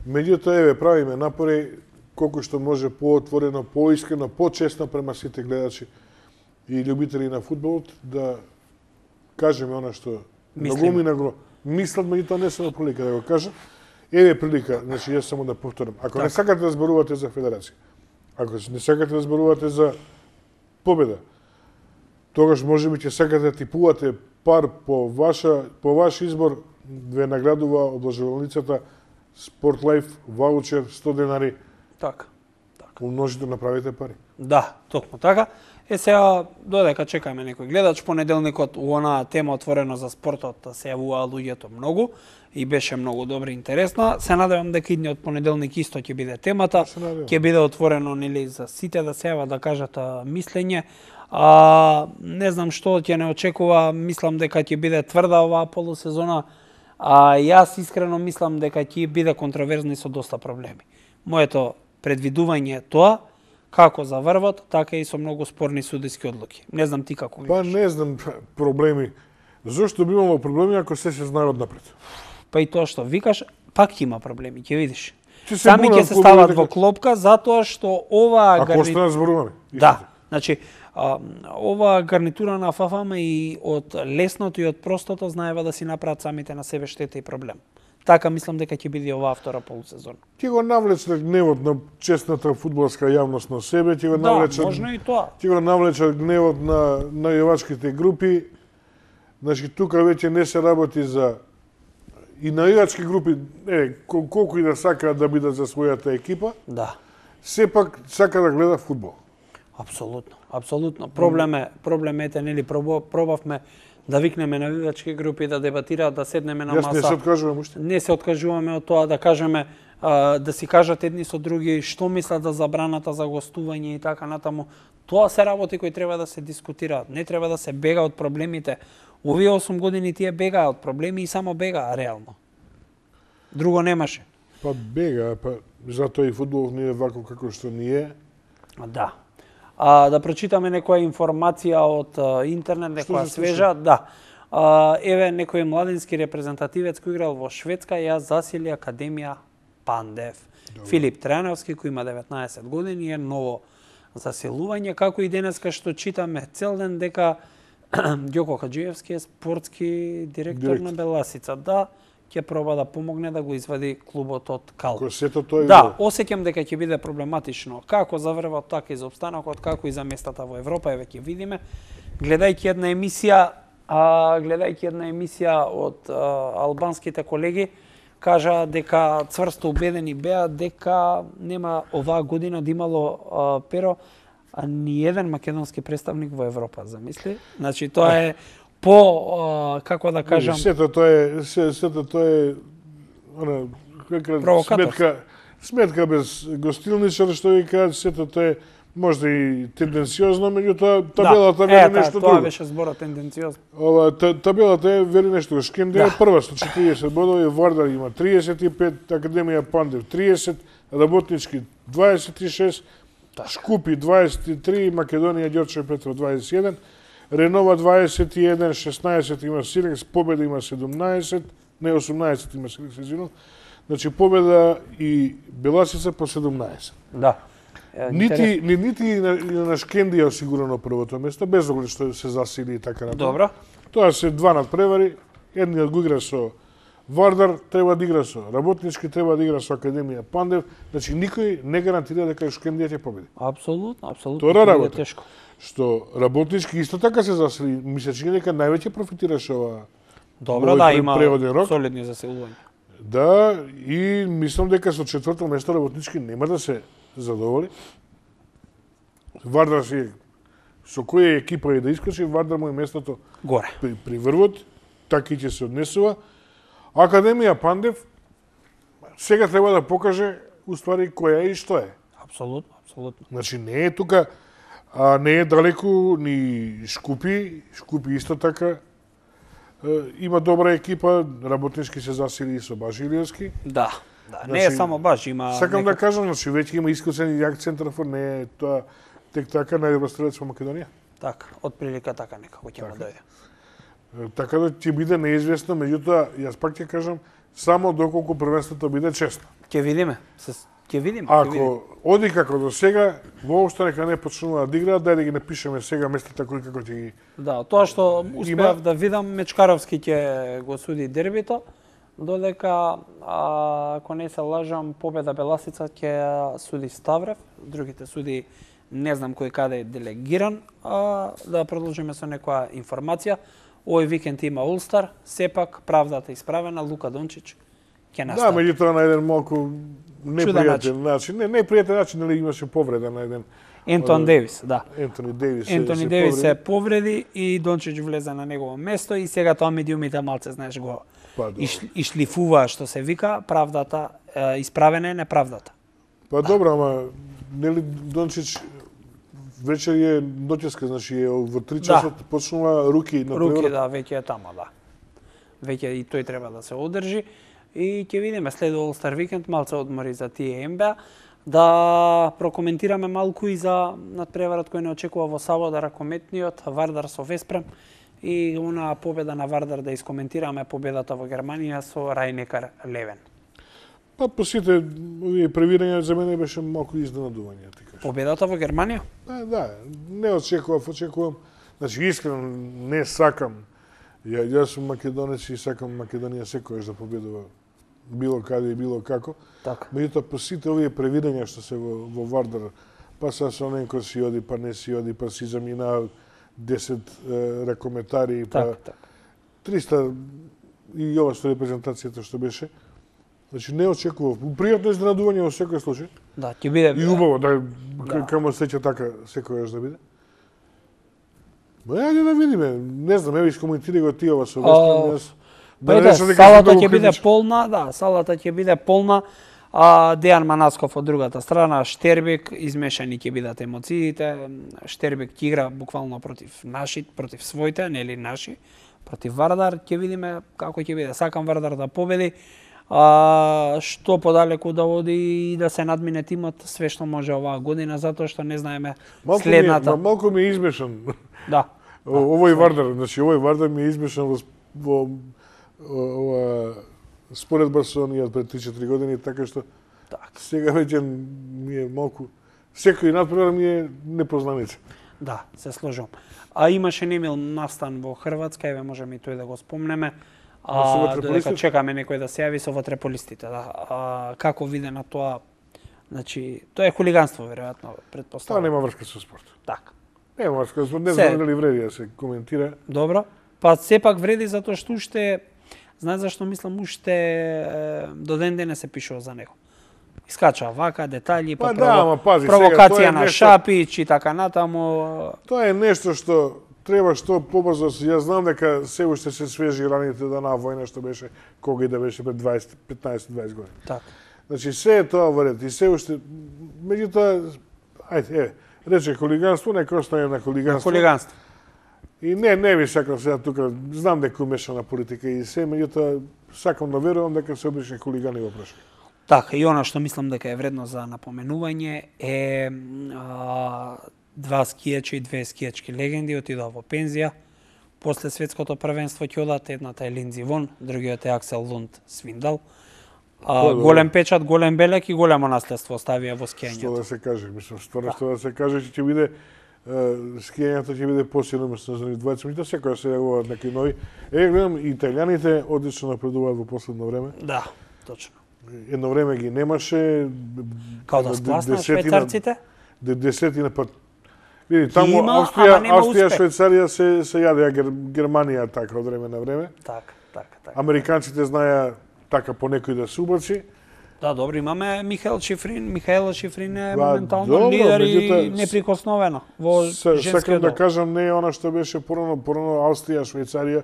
Меѓутоа, еве, правиме напори колку што може поотворено, поискрено, почесно према сите гледачи и љубители на фудбалот, да кажеме она што многумина го мислат, меѓутоа не се прилика да го кажа. Еве прилика, значи јас само да повторам. Ако так. не сакате да зборувате за федерација, ако не сакате да зборувате за победа, тогаш можеби ќе сакате да типувате пар по ваша по ваш избор, ве наградува облажувалницата Sport Life ваучер сто денари. Така. Така. Умножите направите пари. Да, токму така. Е сега додека чекаме некој гледач, понеделникот у онаа тема отворено за спортот се јавуваа луѓето многу и беше многу добро и интересно. Се надевам дека идниот понеделник исто ќе биде темата. Ќе биде отворено нели за сите да се јават да кажат мислење. А, не знам што ќе не очекува, мислам дека ќе биде тврда оваа полусезона. А јас искрено мислам дека ќе биде контроверзно и со доста проблеми. Моето предвидување е тоа, како за врвот, така и со многу спорни судиски одлуки. Не знам ти како Па гледаш. не знам проблеми. Зошто би имало проблеми ако се се знае однапред? Па и тоа што викаш, пак ќе има проблеми, ќе видиш. Се Сами ќе се стават во клопка затоа што оваа Ако гарни... останат зборуваме. Да, значи а, оваа гарнитура на ФАФАМ и од лесното и од простото знаева да си направат самите на себе штета и проблем. така мислам дека ќе биде оваа втора полусезона. Ќе го навлече гневот на честната фудбалска јавност на себе, ќе го Да, навлече можно и тоа. ќе го навлече гневот на најавачките групи. Значи тука веќе не се работи за и најавачки групи, е, кол- колку и да сакаат да бидат за својата екипа, Да. сепак сака да гледа фудбал. Апсолутно, апсолутно. Проблем е, проблем ете, нели, пробо- пробавме да викнеме навивачки групи да дебатираат, да седнеме на Јас не се маса. откажувам уште. Не се откажуваме од тоа да кажеме, а, да си кажат едни со други што мислат за забраната за гостување и така натаму. Тоа се работи кои треба да се дискутираат. Не треба да се бега од проблемите. Овие осум години тие бегаа од проблеми и само бегаа реално. Друго немаше. Па бега, па затоа и фудбалот не е вако како што ни е. Да. А, да прочитаме некоја информација од а, интернет, некоја се свежа. Да. А, еве некој младински репрезентативец кој играл во Шведска ја засили Академија Пандев. Добре. Филип Трајановски, кој има деветнаесет години, е ново заселување, како и денеска што читаме цел ден дека Ѓоко Хаџиевски е спортски директор, директор на Беласица. Да, ќе проба да помогне да го извади клубот од кал. Кој сето тој Да, осеќам дека ќе биде проблематично како за врвот, така и за опстанокот, како и за местата во Европа, еве ќе видиме. Гледајќи една емисија, а, гледајќи една емисија од а, албанските колеги, кажа дека цврсто убедени беа дека нема оваа година да имало а, перо а ни еден македонски представник во Европа, замисли? Значи тоа е по а, како да кажам, сето тоа е се- сето тоа е она каква Провокатор. сметка сметка без гостилничар што ви кажат, сето тоа е можда и тенденциозно, меѓутоа табелата да, вели ета, нешто тоа друго. беше зборот тенденциозно. Ова та- табелата е вели нешто друго. Шкенде Да. е прва со четириесет бодови, Вардар има триесет и пет, Академија Пандев триесет, Работнички дваесет и шест, Шкупи дваесет и три, Македонија Ѓорче Петров дваесет и еден, Ренова дваесет и еден, шеснаесет има Силекс, Победа има седумнаесет, не осумнаесет има Силекс, извинувам. Значи Победа и Беласица по седумнаесет. Да. Е, Нити ни нити и на, и на Шкендија осигурено првото место, без оглед што се засили и така натаму. Добро. Тоа се два надпревари, едниот го игра со Вардар, треба да игра со Работнички, треба да игра со Академија Пандев, значи никој не гарантира дека Шкендија ќе победи. Апсолутно, апсолутно. Тоа ќе биде работа. Тешко. Што Работнички исто така се засили, ми се чини дека највеќе профитираше ова. Добро, овој да, пре- има преводен рок. солидни заселувања. Да, и мислам дека со четврто место Работнички нема да се задоволи. Вардар си со која екипа е да искочи, Вардар му е местото Горе. при, при врвот, така и ќе се однесува. Академија Пандев сега треба да покаже уствари која е и што е. Апсолутно, апсолутно. Значи не е тука, а не е далеку ни Шкупи, Шкупи исто така е, има добра екипа, Работнички се засили и со Башилиевски. Да. Да, не е Значи, само баш, има Сакам некој- да кажам, значи веќе има искусен и јак центарфор, не е тоа тек така најдобар стрелец во Македонија. Така, од прилика така некако ќе му дојде. Е, Така да ќе биде неизвестно, меѓутоа јас пак ќе кажам само доколку првенството биде честно. Ќе видиме. Се ќе видиме, ќе видиме. Ако оди како до сега, воопшто нека не почнуваат да играат, дај да ги напишеме сега местата кои како ќе ги. Да, тоа што успеав Има- да видам, Мечкаровски ќе го суди дербито, додека, а, ако не се лажам, Победа Беласица ќе ја суди Ставрев, другите суди не знам кој каде е делегиран, а да продолжиме со некоја информација. Овој викенд има Улстар, сепак правдата исправена, Лука Дончич ќе Да, настави. меѓутоа на еден малку непријатен начин. начин. Не, непријатен начин, нели имаше повреда на еден Ентон од- Девис, да. Ентони Девис. се- Ентони се Девис се повреди. повреди и Дончич влезе на негово место и сега тоа медиумите малце, знаеш, го Па, добро. иш, ишлифува, што се вика, правдата, е, исправена е неправдата. Па добро, ама нели Дончич вечер е ноќеска, значи е во три часот почнува руки на Руки, преврат. да, веќе е тамо, да. Веќе и тој треба да се одржи и ќе видиме следува All-Star викенд, малце одмори за тие Н Б А. Да прокоментираме малку и за надпреварот кој не очекува во сабота ракометниот Вардар со Веспрем и она победа на Вардар, да искоментираме победата во Германија со Рајнекар Левен. Па по сите овие превирања за мене беше малку изненадување, ти кажам. Победата во Германија? Да, да, не очекував, очекувам. Значи искрено не сакам. Ја, јас сум македонец и сакам Македонија секојаш да победува било каде и било како. Така. Меѓутоа, по сите овие превидења што се во, во Вардар, па са Соненко си оди, па не си оди, па си замина десет е, ракометари, па Так, так. триста и ова што репрезентацијата што беше. Значи не очекував. Пријатно изненадување во секој случај. Да, ќе биде И убаво да, Да. камо сеќа така секојаш да биде. Ма ајде да видиме. Не знам, еве искоментирај го ти ова со Вестхем. Јас Па не и да, речам дека сум салата многу ќе биде критичен. полна, да, салата ќе биде полна. А Дејан Манасков од другата страна, Штербек, измешани ќе бидат емоциите. Штербек ќе игра буквално против наши, против своите, нели наши, против Вардар. Ќе видиме како ќе биде. Сакам Вардар да победи. А, што подалеку да оди и да се надмине тимот све што може оваа година, затоа што не знаеме Малку ми е, следната. ма, малку ми е измешан. Да. О- Овој Вардар, значи овој Вардар ми е измешан во, во о- ова споредба со оние пред три-четири години, така што Так. сега веќе ми е малку секој надпревар ми е непознаница. Да, се сложувам. А имаше немил настан во Хрватска, еве можеме и тој да го спомнеме. со А, ватреполистите? додека чекаме некој да се јави со ватреполистите, да. А, како виде на тоа? Значи, тоа е хулиганство веројатно, Тоа претпоставувам. нема врска со спорт. Така. Нема врска со спорт, не Се- знам дали вреди да се коментира. Добро. Па сепак вреди затоа што уште, знаеш зашто мислам, уште е, до ден денес се пишува за него. Искача вака детали, па, Па да, ама пази, сега, провокација тоа е на нешто- Шапич и така натаму. Тоа е нешто што треба што побрзо. Јас знам дека се уште се свежи раните да на војна што беше кога и да беше пред дваесет, петнаесет дваесет години. Така. Значи се е тоа во ред и се уште меѓутоа ајде е рече хулиганство, нека остане на хулиганство. Хулиганство. И не не ви сакам сега тука, знам дека умешана политика и се, меѓутоа сакам да верувам дека се обични хулигани во прошли. Така, и она што мислам дека е вредно за напоменување е а, два скијачи и две скијачки легенди отидоа во пензија. После светското првенство ќе одат, едната е Линдзи Вон, другиот е Аксел Лунд Свиндал. А, Добро. голем печат, голем белек и големо наследство оставија во Што скијањето. да се каже, мислам, стварно што да се каже, ќе биде е, скијањето ќе биде посилно место за нив двајца, меѓутоа секоја се јавуваат некои нови. Е, гледам, и италијаните одлично напредуваат во последно време. Да, точно. Едно време ги немаше. Као да де- спласна десетина- швајцарците? де- Десетина па види, таму има, Австрија, ама нема Австрија, успех. Швајцарија се се јадеа Гер, Германија така од време на време. Така, така, така. Американците знаеа така по некој да се убаци. Да, добро, имаме Михаел Шифрин. Михаел Шифрин е Ба, моментално добро, лидер и меѓутоа, неприкосновено во С- Сакам женскиот да дел. кажам, не е она што беше порано, порано Австрија, Швајцарија,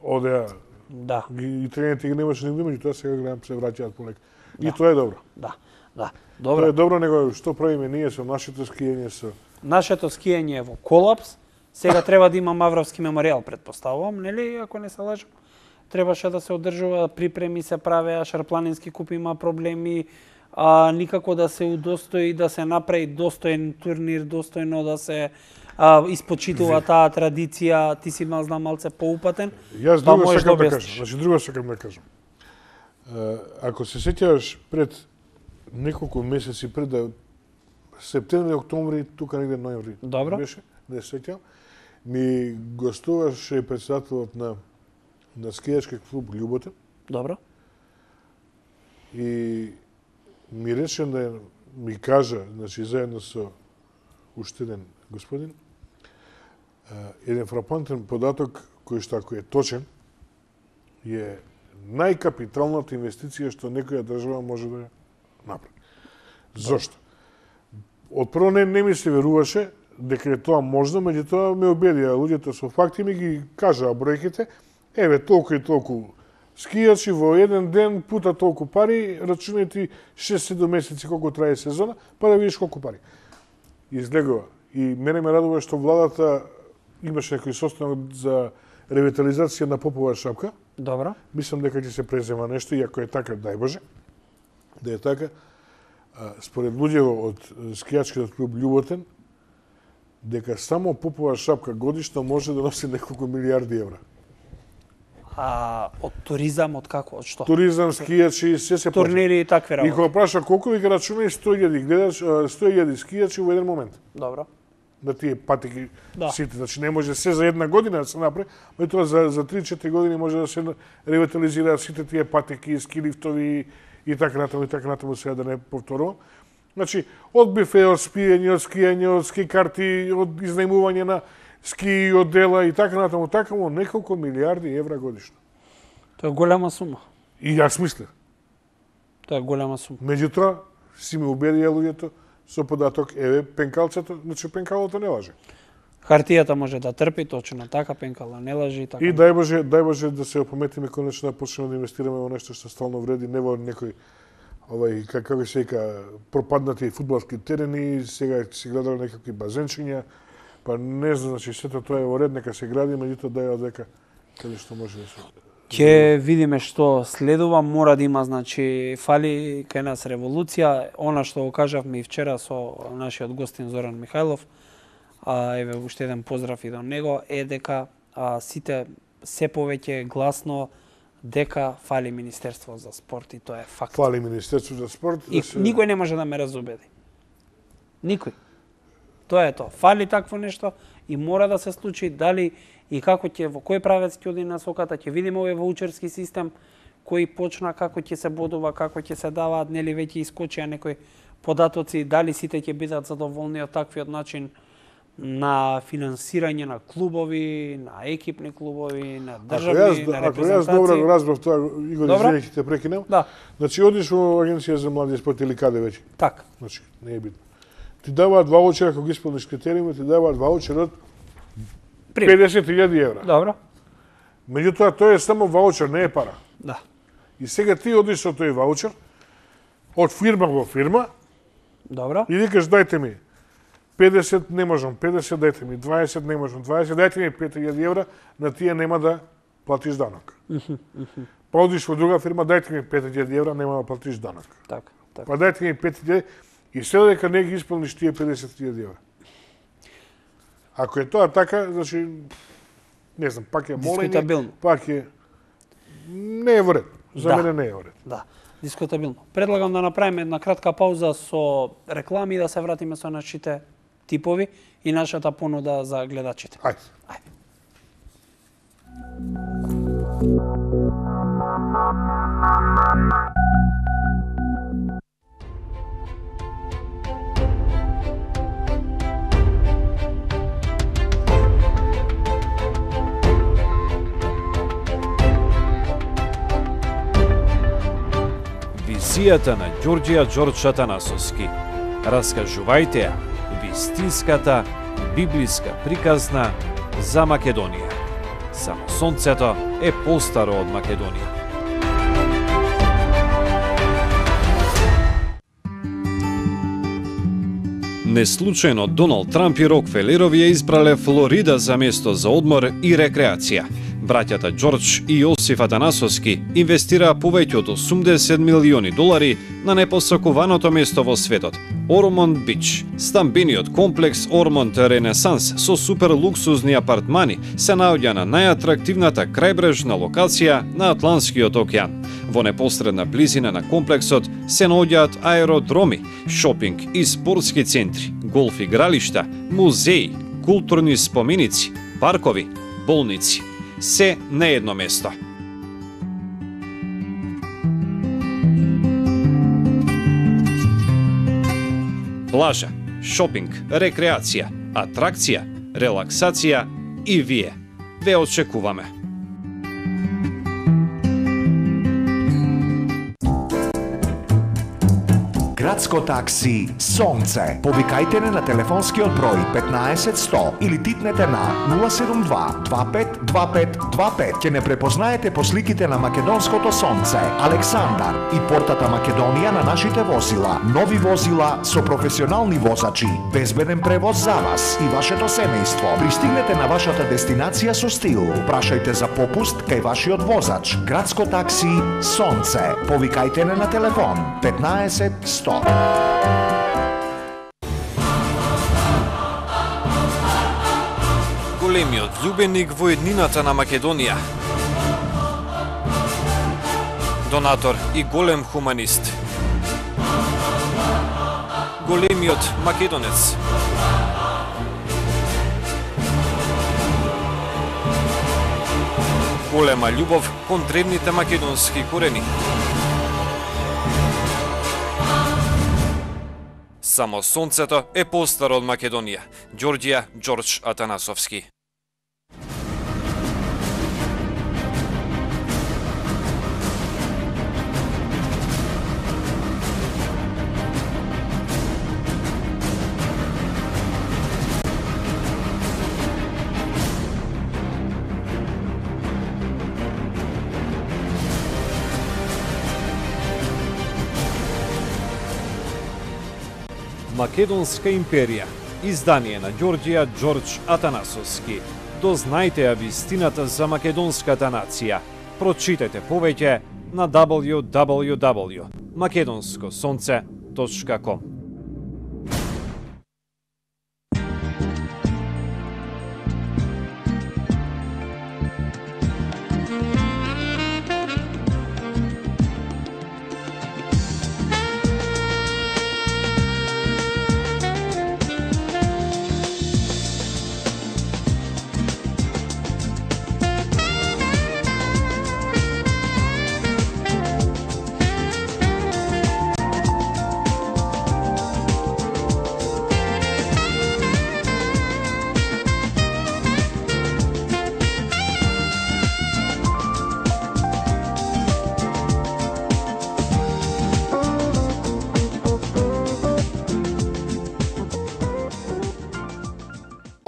одеа, Да, ги- и тренерите ги немаше нигде, меѓутоа сега гледам се враќаат полека. И Да. тоа е добро. да, да. Тоа Добро. е добро, него што правиме ние со нашето скијање, со Нашето скијање е во колапс. Сега треба да има Мавровски меморијал, предпоставувам, нели, ако не се лажам. Требаше да се одржува, припреми се правеа, Шарпланински куп има проблеми, а, никако да се удостои, да се направи достоен турнир, достојно да се а, испочитува таа традиција. Ти си мал знам малце поупатен. Јас Тоа друго можеш сакам да да објасниш. кажам. Значи друго сакам да кажам. Е, Ако се сеќаваш пред неколку месеци пред да септември, октомври, тука негде ноември. Добро. Беше, не се сеќавам. Ми гостуваше председателот на на скијачки клуб Љубота Добро. и ми рече да ми кажа, значи заедно со уште еден господин, е, еден фрапантен податок кој што ако е точен, е најкапиталната инвестиција што некоја држава може да ја направи. Зошто? Од прво не, не ми се веруваше дека е тоа можно, меѓутоа ме убедија луѓето со факти, ми ги кажаа бројките, еве толку и толку скијачи во еден ден пута толку пари, рачунајте шест-седум месеци колку трае сезона, па да видиш колку пари. Излегува. И мене ме радува што владата имаше некој состанок за ревитализација на Попова шапка. Добро. Мислам дека ќе се презема нешто, и ако е така, дај Боже, да е така. А, според луѓето од скијачкиот клуб Љуботен, дека само Попова шапка годишно може да носи неколку милиарди евра. А од туризам, од како, од што? Туризам, скијачи, се се плаќа. Турнири и такви И работи. кога праша колку ви ги рачунај сто илјади гледаш, сто илјади скијачи во еден момент. Добро. на тие патеки Да. сите. Значи не може се за една година да се направи, меѓутоа за за три-четири години може да се ревитализираат сите тие патеки, ски лифтови и така натаму и така натаму, сега да не повторувам. Значи од бифе, од спиење, од скијање, од ски карти, од изнајмување на ски одела и така натаму, така му неколку милиарди евра годишно. Тоа е голема сума. И јас мислев. Тоа е голема сума. Меѓутоа, си ме убедија луѓето со податок, еве, пенкалцето, значи пенкалото не лаже. Хартијата може да трпи, точно така, пенкала не лажи и така. И дај Боже, дај Боже да се опаметиме конечно да почнеме да инвестираме во нешто што стално вреди, не во некој овај како се вика пропаднати фудбалски терени, сега се градат некакви базенчиња, па не знам, значи сето тоа е во ред, нека се гради, меѓутоа дај одека каде што може да се. Ќе видиме што следува, мора да има, значи, фали кај нас револуција, она што го кажавме и вчера со нашиот гостин Зоран Михајлов, а еве уште еден поздрав и до него, е дека а, сите се повеќе гласно дека фали Министерство за спорт и тоа е факт. Фали Министерство за спорт. И да се... никој не може да ме разубеди. Никој. Тоа е тоа. Фали такво нешто и мора да се случи, дали и како ќе, во кој правец ќе оди насоката, ќе видиме овој ваучерски систем кој почна, како ќе се бодува, како ќе се даваат, нели веќе искочија некои податоци, дали сите ќе бидат задоволни од таквиот начин на финансирање на клубови, на екипни клубови, на државни, ако јас, на ако репрезентации. јас добро го разбрав тоа, Игор, Добро? извини, ќе те прекинам. Да, Значи, одиш во Агенција за млади и спорт или каде веќе? така. Значи, не е битно. Ти даваат ваучер, ако ги исполниш критериуми, ти даваат ваучер од Пример. педесет илјади евра. Добро. Меѓутоа, тоа е само ваучер, не е пара. Да. И сега ти одиш со тој ваучер, од фирма во фирма, Добро. и викаш, дајте ми педесет, не можам педесет, дајте ми дваесет, не можам дваесет, дајте ми пет илјади евра, на тие нема да платиш данок. Па одиш во друга фирма, дајте ми пет илјади евра, нема да платиш данок. Така, така. Па дајте ми пет илјади и се дека не ги исполниш тие педесет илјади евра. Ако е тоа така, значи, не знам, пак е молење, Дискутабилно. пак е... Не е во ред. За Да. мене не е во ред. Да, дискутабилно. Предлагам да направиме една кратка пауза со реклами и да се вратиме со нашите типови и нашата понуда за гледачите. Ајде. Ајде. Визијата на Ѓорѓија Ѓорđ Атанасовски. Раскажувајте ја вистинската библиска приказна за Македонија. Само сонцето е постаро од Македонија. Неслучајно Доналд Трамп и Рокфелерови ја избрале Флорида за место за одмор и рекреација. Браќата Ѓорđ и Јосиф Атанасовски инвестираа повеќе од осумдесет милиони долари на непосакуваното место во светот – Ормонд Бич. Стамбениот комплекс Ормонд Ренесанс со супер луксузни апартмани се наоѓа на најатрактивната крајбрежна локација на Атлантскиот океан. Во непосредна близина на комплексот се наоѓаат аеродроми, шопинг и спортски центри, голф игралишта, музеи, културни споменици, паркови, болници. Се на едно место. Плажа, шопинг, рекреација, атракција, релаксација и вие. Ве очекуваме. Градско такси Сонце. Повикајте не на телефонскиот број петнаесет сто или титнете на нула седум два два пет два пет два пет. Ќе не препознаете по сликите на македонското сонце, Александар и портата Македонија на нашите возила. Нови возила со професионални возачи, безбеден превоз за вас и вашето семејство. Пристигнете на вашата дестинација со стил. Прашајте за попуст кај вашиот возач. Градско такси Сонце. Повикајте не на телефон петнаесет сто. Големиот љубеник во еднината на Македонија. Донатор и голем хуманист. Големиот македонец. голема љубов кон древните македонски корени. Само сонцето е постаро од Македонија. Ѓорѓија Ѓорџ Атанасовски. Македонска империја, издание на Ѓорѓија Ѓорџ Атанасовски. Дознајте ја вистината за македонската нација. Прочитете повеќе на дабл ю дабл ю дабл ю точка македонско сонце точка ком.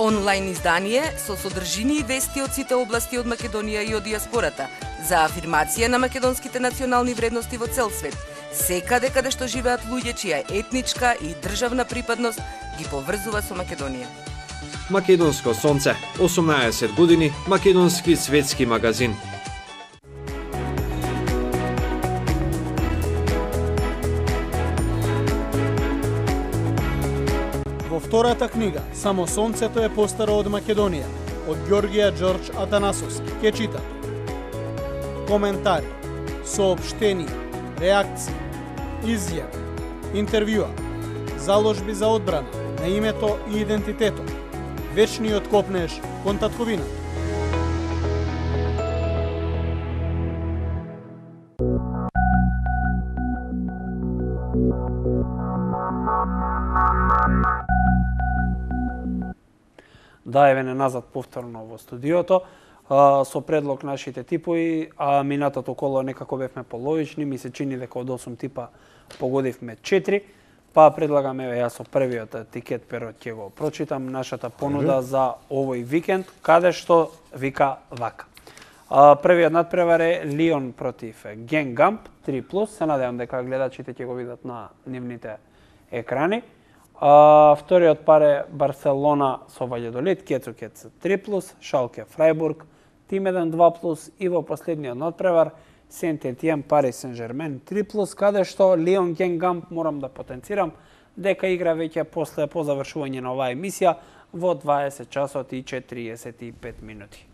Онлайн издание со содржини и вести од сите области од Македонија и од диаспората за афирмација на македонските национални вредности во цел свет, секаде каде што живеат луѓе чија етничка и државна припадност ги поврзува со Македонија. Македонско сонце, осумнаесет години, македонски светски магазин. Во втората книга, Само сонцето е постаро од Македонија, од Ѓорѓија Ѓорџ Атанасовски, ке чита коментари, соопштенија, реакции, изјави, интервјуа, заложби за одбрана на името и идентитетот, вечниот копнеж кон татковината. Да, еве не назад повторно во студиото, а, со предлог нашите типови, а минатото коло некако бевме половични, ми се чини дека од осум типа погодивме четири, па предлагаме еве јас со првиот тикет перот ќе го прочитам нашата понуда за овој викенд, каде што вика вака. А, првиот надпревар е Лион против Генгамп три плюс, се надевам дека гледачите ќе го видат на нивните екрани. А, вториот пар е Барселона со Ваљадолид, Кецу Кец три плюс, Шалке Фрајбург, Тим еден два плюс и во последниот надпревар Сент Етиен Парис Сен Жермен три плюс, каде што Лион Генгамп морам да потенцирам дека игра веќе после по завршување на оваа емисија во дваесет часот и четириесет и пет минути.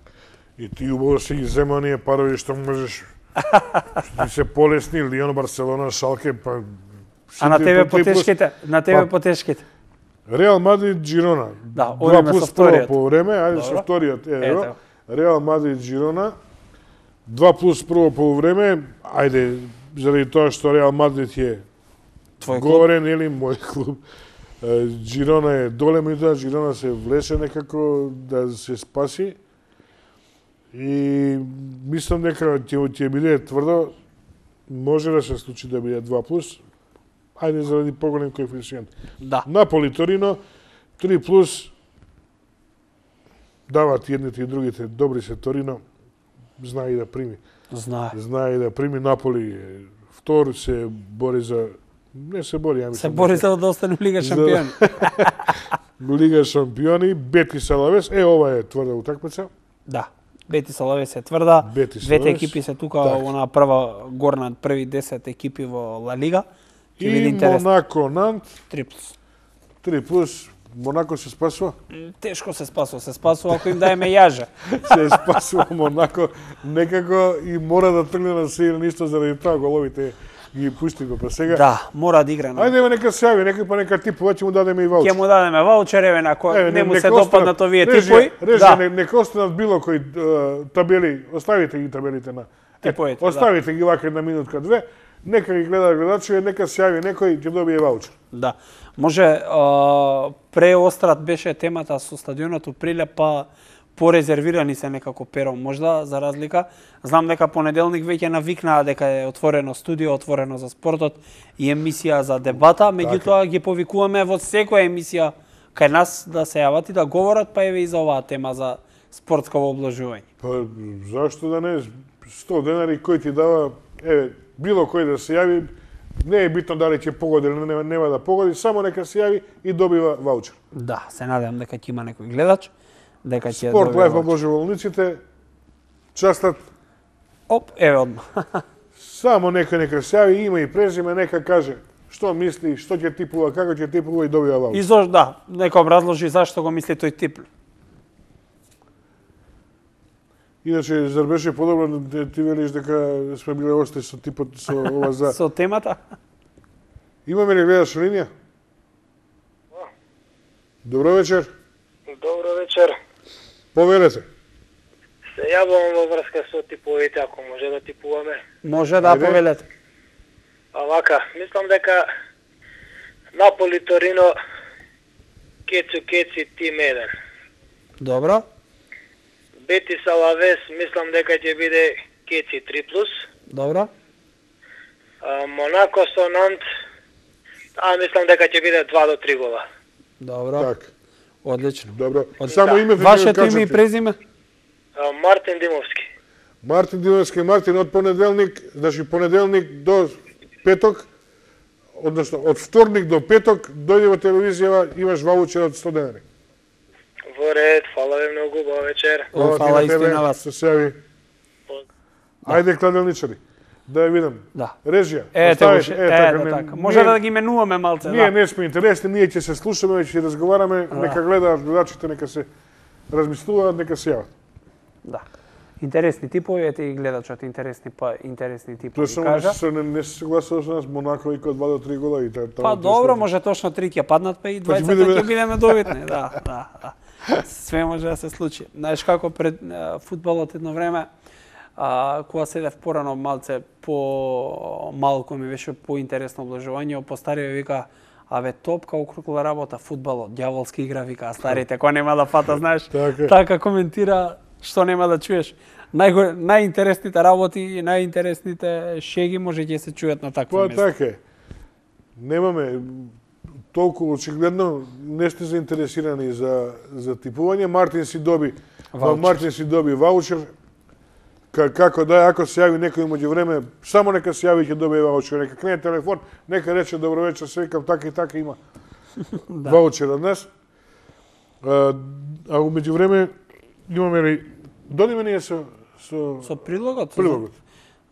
И ти убаво си ги зема оние парови што можеш, што ти се полесни, Лион, Барселона, Шалке, па... А на тебе потешките, на тебе па, потешките. Реал Мадрид Джирона. Да, два одиме плюс со вториот. По време, ајде со вториот, ево. Реал Мадрид Джирона. два плюс прво полувреме, ајде, заради тоа што Реал Мадрид е твој говорен, или мој клуб. Джирона е доле, меѓутоа Джирона се влеше некако да се спаси. И мислам дека ќе ќе биде тврдо, може да се случи да биде два плюс. Ајде заради поголем коефициент. Да. Наполи Торино три плюс, дават едните и другите, добри се Торино, знае и да прими. Знае. Знае и да прими. Наполи е втор, се бори за... Не се бори, ја мислам. Се бори за да остане Лига шампиони. Лига шампиони, Бетис Алавес, е ова е тврда утакмица. Да. Бетис Алавес е тврда. Бетис Двете Алавес. екипи се тука, Так. она прва горна први десет екипи во Ла Лига. Ќе биде И интересно. Монако Нант, три плюс. три плюс, Монако се спасува. Тешко се спасува, се спасува ако им даеме јажа. Се спасува Монако, некако и мора да тргне на се или ништо заради тоа головите Ги пусти го па сега. Да, мора да игра. Ајде ме нека се јави, некој па нека типува, ќе му дадеме и ваучер. Ќе му дадеме ваучер, еве на кој не му се допаднат овие типови. Режија, да. Нека останат било кои табели, оставите ги табелите на типовите. Оставите ги вака една минутка две, нека ги гледа гледачи, нека се јави некој ќе добие ваучер. Да. Може преострат беше темата со стадионот у Прилеп, па порезервирани се некако перо, можда за разлика. Знам дека понеделник веќе навикнаа дека е отворено студио, отворено за спортот и емисија за дебата, меѓутоа ги повикуваме во секоја емисија кај нас да се јават и да говорат, па еве и за оваа тема за спортско обложување. Па зашто да не, сто денари кој ти дава, еве, било кој да се јави, не е битно дали ќе погоди или нема, нема да погоди, само нека се јави и добива ваучер. Да, се надевам дека ќе има некој гледач. Дека ќе Спорт лайф обложувалниците частат. Оп, еве одма. Само нека нека се јави, има и презиме, нека каже што мисли, што ќе типува, како ќе типува и добива ваучер. И зошто да, нека образложи зашто го мисли тој тип. Иначе зар беше подобро да ти велиш дека сме биле ости со типот со ова за со темата? Имаме ли гледаш линија? Добро вечер. Добро вечер. Повелете. Се јавувам во врска со типовите, ако може да типуваме. Може да повелете. А вака, мислам дека Наполи Торино Кецу Кеци тим еден. Добро. Бетис Алавес, мислам дека ќе биде Кеци три плюс. Добро. А, Монако со Нант, а мислам дека ќе биде два до три гола. Добро. Так. Одлично. Добро. Само името Вашето име и презиме? А, Мартин Димовски. Мартин Димовски, Мартин, од понеделник, значи понеделник до петок, односно од вторник до петок, дојди во телевизија, имаш ваучер од сто денари. Во ред, фала ви многу, убава вечер. О, фала истина на вас. Се сејави. Ајде, кладелничари. Да ја видам. Да. Режија. Е, оставиш, е, е, така, не, така. Може да ги менуваме малце, ние да. не сме интересни, ние ќе се слушаме, ќе разговараме, Да. нека гледаат гледачите, нека се размислуваат, нека се јават. Да. Интересни типови, ете и гледачот интересни, па интересни типови Тоа само кажа. се не, не се согласува со нас, Монако и кod два до три гола и та, та, Па добро, може точно три ќе паднат, па и двајцата бидеме- ќе бидеме добитни, да, да, да. Све може да се случи. Знаеш како пред а, фудбалот едно време, а, кога седев порано малце по малку ми беше поинтересно обложување, постарија вика, аве топка округла работа, фудбалот, ѓаволски игра, вика, а старите, кој нема да фата, знаеш, Така. така коментира, што нема да чуеш. Најго, најинтересните работи и најинтересните шеги може ќе се чујат на такво Па место. така е. Немаме толку очигледно не сте заинтересирани за за типување. Мартин си доби, Ваучер. Мартин си доби ваучер. Ка, како да, ако се јави некој меѓу време, само нека се јави ќе добие ваучер. Нека крене телефон, нека рече добро вечер, се викам така и така има Да. ваучер од нас. А, а меѓу време имаме ли додиме ние со со, Со прилогот? со- прилогот.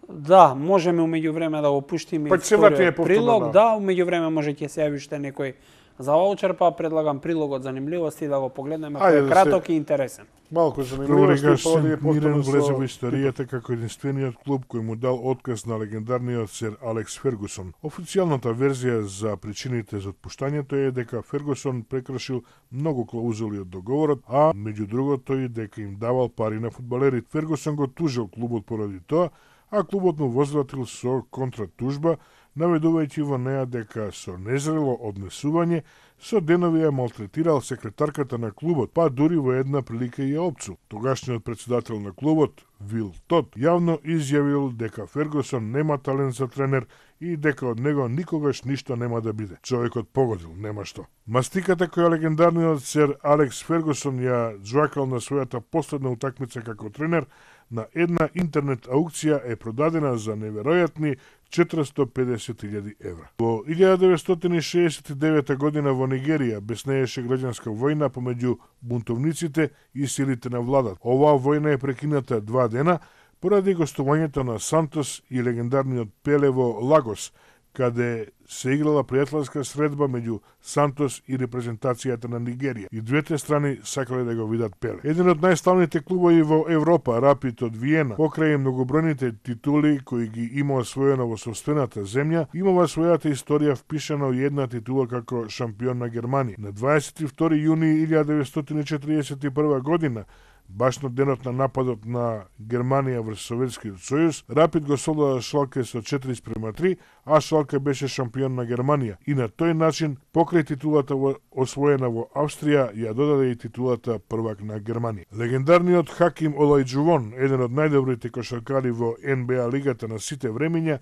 Да, можеме умеѓу време да го пуштиме Па ќе се вториот вратиме повторно, прилог, да. да, умеѓу време може ќе се јави уште некој за ваучер, па предлагам прилогот занимливости да го погледнеме, кој Ајде е да краток и интересен. Малку Прво занимливости, регаш па одиме Сент Мирен повторно влезе со... во историјата како единствениот клуб кој му дал отказ на легендарниот сер Алекс Фергусон. Официјалната верзија за причините за отпуштањето е дека Фергусон прекршил многу клаузули од договорот, а меѓу другото и дека им давал пари на фудбалерите. Фергусон го тужил клубот поради тоа, а клубот му возвратил со контратужба, наведувајќи во неа дека со незрело однесување со денови ја малтретирал секретарката на клубот, па дури во една прилика и ја опцу. Тогашниот председател на клубот, Вил Тот, јавно изјавил дека Фергусон нема талент за тренер и дека од него никогаш ништо нема да биде. Човекот погодил, нема што. Мастиката која легендарниот сер Алекс Фергусон ја џвакал на својата последна утакмица како тренер, на една интернет аукција е продадена за неверојатни четиристо педесет илјади евра. Во илјада деветстотини шеесет и девета година во Нигерија беснееше граѓанска војна помеѓу бунтовниците и силите на владат. Оваа војна е прекината два дена поради гостувањето на Сантос и легендарниот Пеле во Лагос, каде се играла пријателска средба меѓу Сантос и репрезентацијата на Нигерија. И двете страни сакале да го видат Пеле. Еден од најславните клубови во Европа, Рапид од Виена, покрај многобројните титули кои ги има освоено во собствената земја, има во својата историја впишано една титула како шампион на Германија. На дваесет и втори јуни илјада деветстотини и четиридесет и прва година, баш на денот на нападот на Германија врз Советскиот сојуз, Рапид го солда Шалке со четири спрема три, а Шалке беше шампион на Германија. И на тој начин, покрај титулата во, освоена во Австрија, ја додаде и титулата првак на Германија. Легендарниот Хаким Олајџувон, еден од најдобрите кошаркари во Н Б А лигата на сите времиња,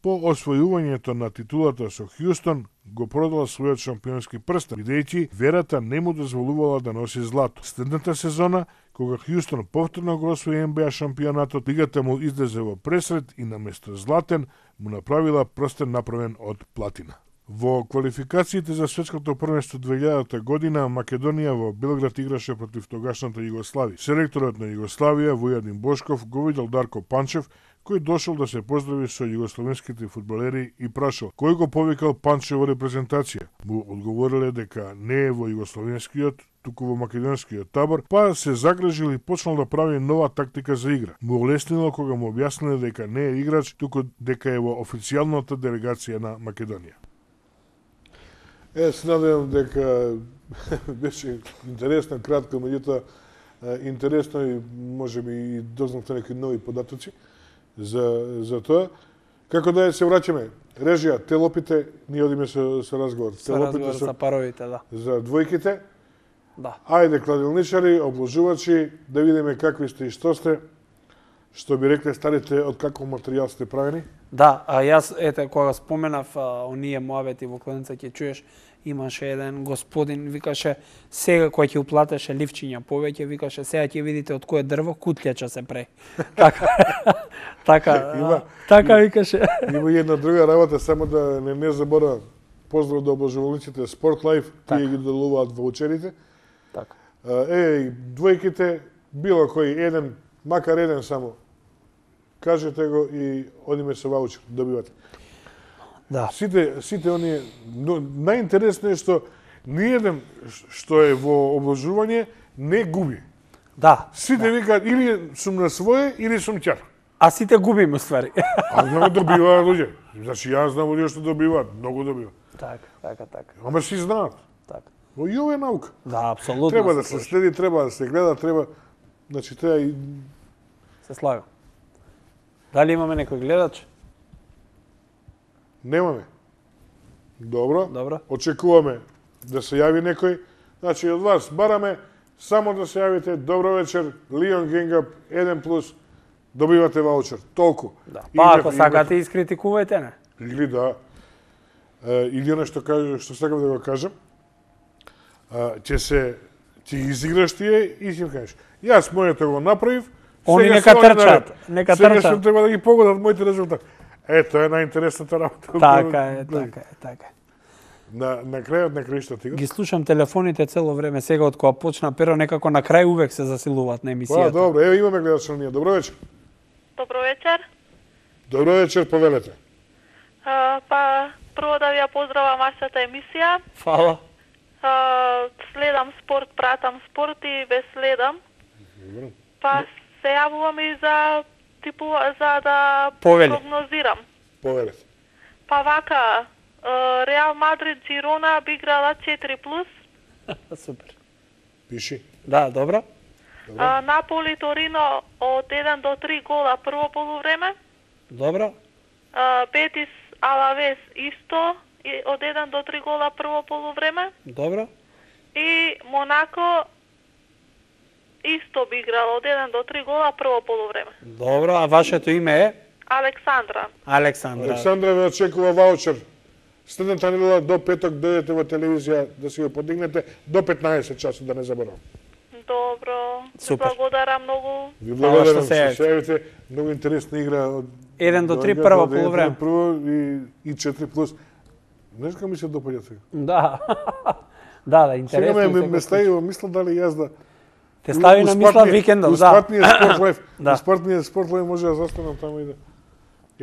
по освојувањето на титулата со Хјустон, го продала својот шампионски прстен, бидејќи верата не му дозволувала да носи злато. Следната сезона, кога Хјустон повторно го освои Н Б А шампионатот, лигата му излезе во пресред и наместо златен му направила прстен направен од платина. Во квалификациите за светското првенство две илјадата година, Македонија во Белград играше против тогашната Југославија. Селекторот на Југославија, Војадин Бошков, го видел Дарко Панчев, кој дошол да се поздрави со југословенските фудбалери и прашал кој го повикал Панчев во репрезентација. Му одговориле дека не е во југословенскиот, туку во македонскиот табор, па се загрежил и почнал да прави нова тактика за игра. Му олеснило кога му објасниле дека не е играч, туку дека е во официјалната делегација на Македонија. Е, се надевам дека беше интересно, кратко, меѓутоа интересно и можеби и дознавте некои нови податоци за, за тоа. Како да се враќаме? Режија, те лопите, ние одиме со, со разговор. Со разговор со паровите, да. За двојките. Да. Ајде, кладилничари, обложувачи, да видиме какви сте и што сте. Што би рекле старите, од каков материјал сте правени? Да, а јас, ете, кога споменав а, оние муабети во кладенца, ќе чуеш, имаше еден господин, викаше, сега кој ќе уплатеше ливчиња повеќе, викаше, сега ќе видите од кое дрво кутлјача се прави. Така, така, има, така викаше. Има една друга работа, само да не, не забора, поздрав до обложувалниците Спорт Лайф, тие ги доделуваат ваучерите. Така. Е, двојките, било кој еден, макар еден само, кажете го и одиме со ваучер, добивате. Да. Сите, сите оние, но најинтересно е што ниеден што е во обложување не губи. Да. Сите да. Викаат или сум на свое, или сум ќар. А сите губиме ствари. А многу добиваат луѓе. Значи јас знам луѓе што добиваат, многу добиваат. Така, така, така. Ама си знаат. Така. Во и ова е наука. Да, апсолутно. Треба да се следи, треба да се гледа, треба, значи треба и се слагам. Дали имаме некој гледач? Немаме. Добро. Добро. Очекуваме да се јави некој. Значи, од вас бараме само да се јавите. Добро вечер, Лион Генгап, еден плюс, добивате ваучер. Толку. Да. Па, ако сакате, искритикувајте, не? Или да. Е, или оно што, кажу, што сакам да го кажам, ќе се, ќе ги изиграш тие и ќе кажеш. Јас моето го направив, Они нека трчат, нека трчат. Сега што треба да ги погодат моите резултати. Ето е најинтересната работа. Така е, така е, така е. На, на крајот на краишта ти ги слушам телефоните цело време, сега од кога почна Перо, некако на крај увек се засилуваат на емисијата. Па, добро, еве имаме гледач на ние. Добро вечер. Добро вечер. Добро вечер, повелете. А, па, прво да ви ја поздравам вашата емисија. Фала. А, следам спорт, пратам спорт и ве следам. Добро. Па, се јавувам и за типу за да Повели. прогнозирам. Повелете. Па вака, Реал Мадрид Джирона би играла четири плюс. Супер. Пиши. Да, добро. А, Наполи Торино од еден до три гола прво полувреме. Добро. А, Бетис Алавес исто и од еден до три гола прво полувреме. Добро. И Монако исто би играло од еден до три гола прво полувреме. Добро, а вашето име е? Александра. Александра. Александра ве очекува ваучер. Следната недела до петок дојдете во телевизија да си го подигнете до петнаесет часот, да не заборавам. Добро. Супер. Ви благодарам многу. Ви благодарам се што се јавите. Многу интересна игра од еден до три прво полувреме. Прво и и четири плюс. Знаеш како ми се допаѓа сега? Да. Да, да, интересно. Сега ме, ме стави во мисла дали јас да те стави на мисла викендов, да. Успатниот спорт лайф. Да. Успатниот спорт лайф може да застанам таму и да.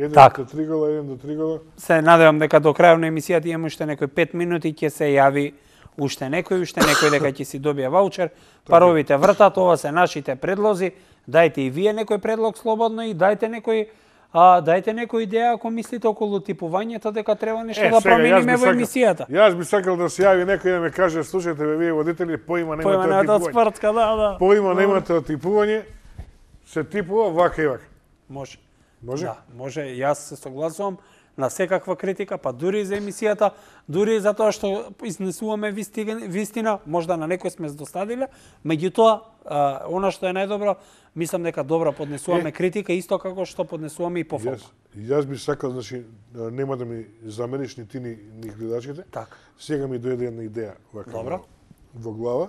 Еден Така. до три гола, еден до три гола. Се надевам дека до крајот на емисијата имаме уште некои пет минути, ќе се јави уште некој, уште некој дека ќе си добие ваучер. Паровите вртат, ова се нашите предлози. Дајте и вие некој предлог слободно и дајте некој а дајте некоја идеја ако мислите околу типувањето дека треба нешто Е, да сега, јас би промениме во сакал- емисијата. Јас би сакал да се јави некој да ме каже, слушајте бе, вие водители, поима немате Поима од немате од типување. спортска, да, да. Поима немате од типување, се типува вака и вака. Може. Може? Да, може. Јас се согласувам на секаква критика, па дури и за емисијата, дури и за тоа што изнесуваме вистина, вистина можда на некој сме здостадиле, меѓутоа, а, она што е најдобро, мислам дека добро поднесуваме Е. критика, исто како што поднесуваме и пофалба. Јас, јас би сакал, значи, нема да ми замериш ни ти ни, ни гледачите. Така. Сега ми дојде една идеја вака Добро. во глава.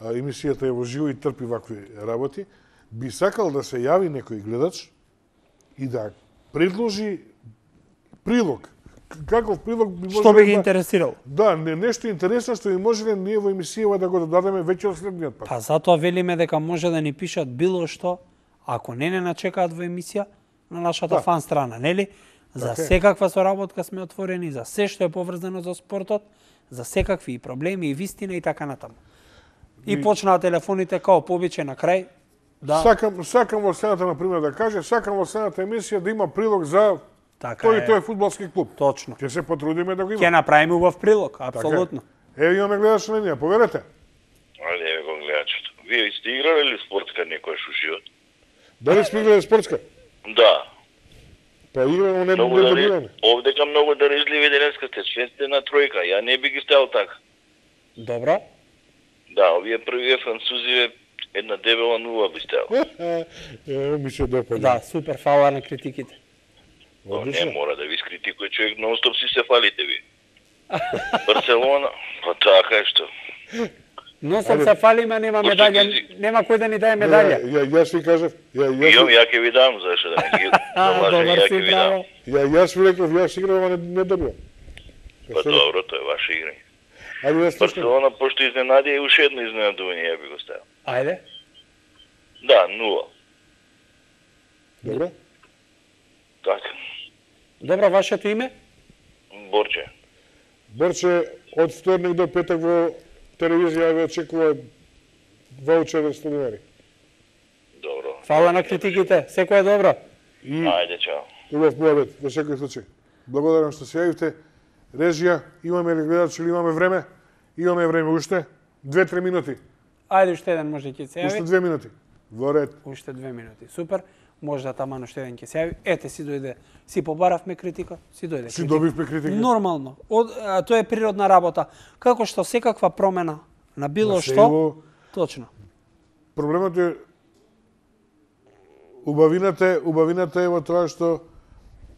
А, емисијата е во живо и трпи вакви работи. Би сакал да се јави некој гледач и да предложи прилог. Каков прилог би Што би ги да- интересирало? Да, не, нешто интересно што би можеле ние во емисијава да го додадеме веќе од следниот пат. Па затоа велиме дека може да ни пишат било што, ако не не начекаат во емисија на нашата Да. фан страна, нели? За Така е. секаква соработка сме отворени, за се што е поврзано за спортот, за секакви и проблеми и вистина и така натаму. И И- почнаа телефоните као по обичај на крај. Да, Сакам, сакам во следната, например, да каже, сакам во следната емисија да има прилог за така тој и е. тој фудбалски клуб. Точно. Ќе се потрудиме да го Ќе има. направиме убав прилог, Така е. апсолутно. Еве имаме гледач на линија, поверете. Ајде, еве го гледачето. Вие сте играли ли спортска некојаш у живот? Дали сме играли спортска? Да. Па играме, не Многу не дари... добиваме. Овдека многу дарежливи денеска сте, све сте на тројка. Ја не би ги ставил така. Добро. Да, овие првиве французиве една дебела нула би ставил. Е, ми се допаѓа. Да, супер, фала на критиките. Но не Одлично. мора да ви скритикува човек, нон-стоп си се фалите ви. Барселона, па така е што. Но сам се фалиме, нема Пошто медаља, ги- нема кој да ни даде Да, медаља. ја, јас ви кажав, ја, јас, Јом, ви- ја ќе ви дам, зашто да не ги А, залажем, добар ја си, ќе ви дам. браво. ја, јас ви реков, јас играм, а не, не добивам. Па добро, тоа е ваше играње. Ајде да слушам. Барселона, пошто изненади, и уште едно изненадување ја би го ставил. Ајде. Да, нула. Добро? Така. Добро, вашето име? Борче. Борче, од вторник до петок во телевизија ве очекува ваучер од сто денари. Добро. Фала на критиките, секој е добро. И Ајде, чао. убав муабет, во секој случај. Благодарам што се јавивте. Режија, имаме ли гледач или имаме време? Имаме време уште. Две-три минути. Ајде уште еден може ќе се Уште јави. две минути. Во ред. Уште две минути. Супер. Може да таман уште еден ќе се јави. Ете си дојде. Си побаравме критика, си дојде. Си критика. добивме критика. Нормално. Од, а, тоа е природна работа. Како што секаква промена на било На што, село. точно. Проблемот е убавината е, убавината е во тоа што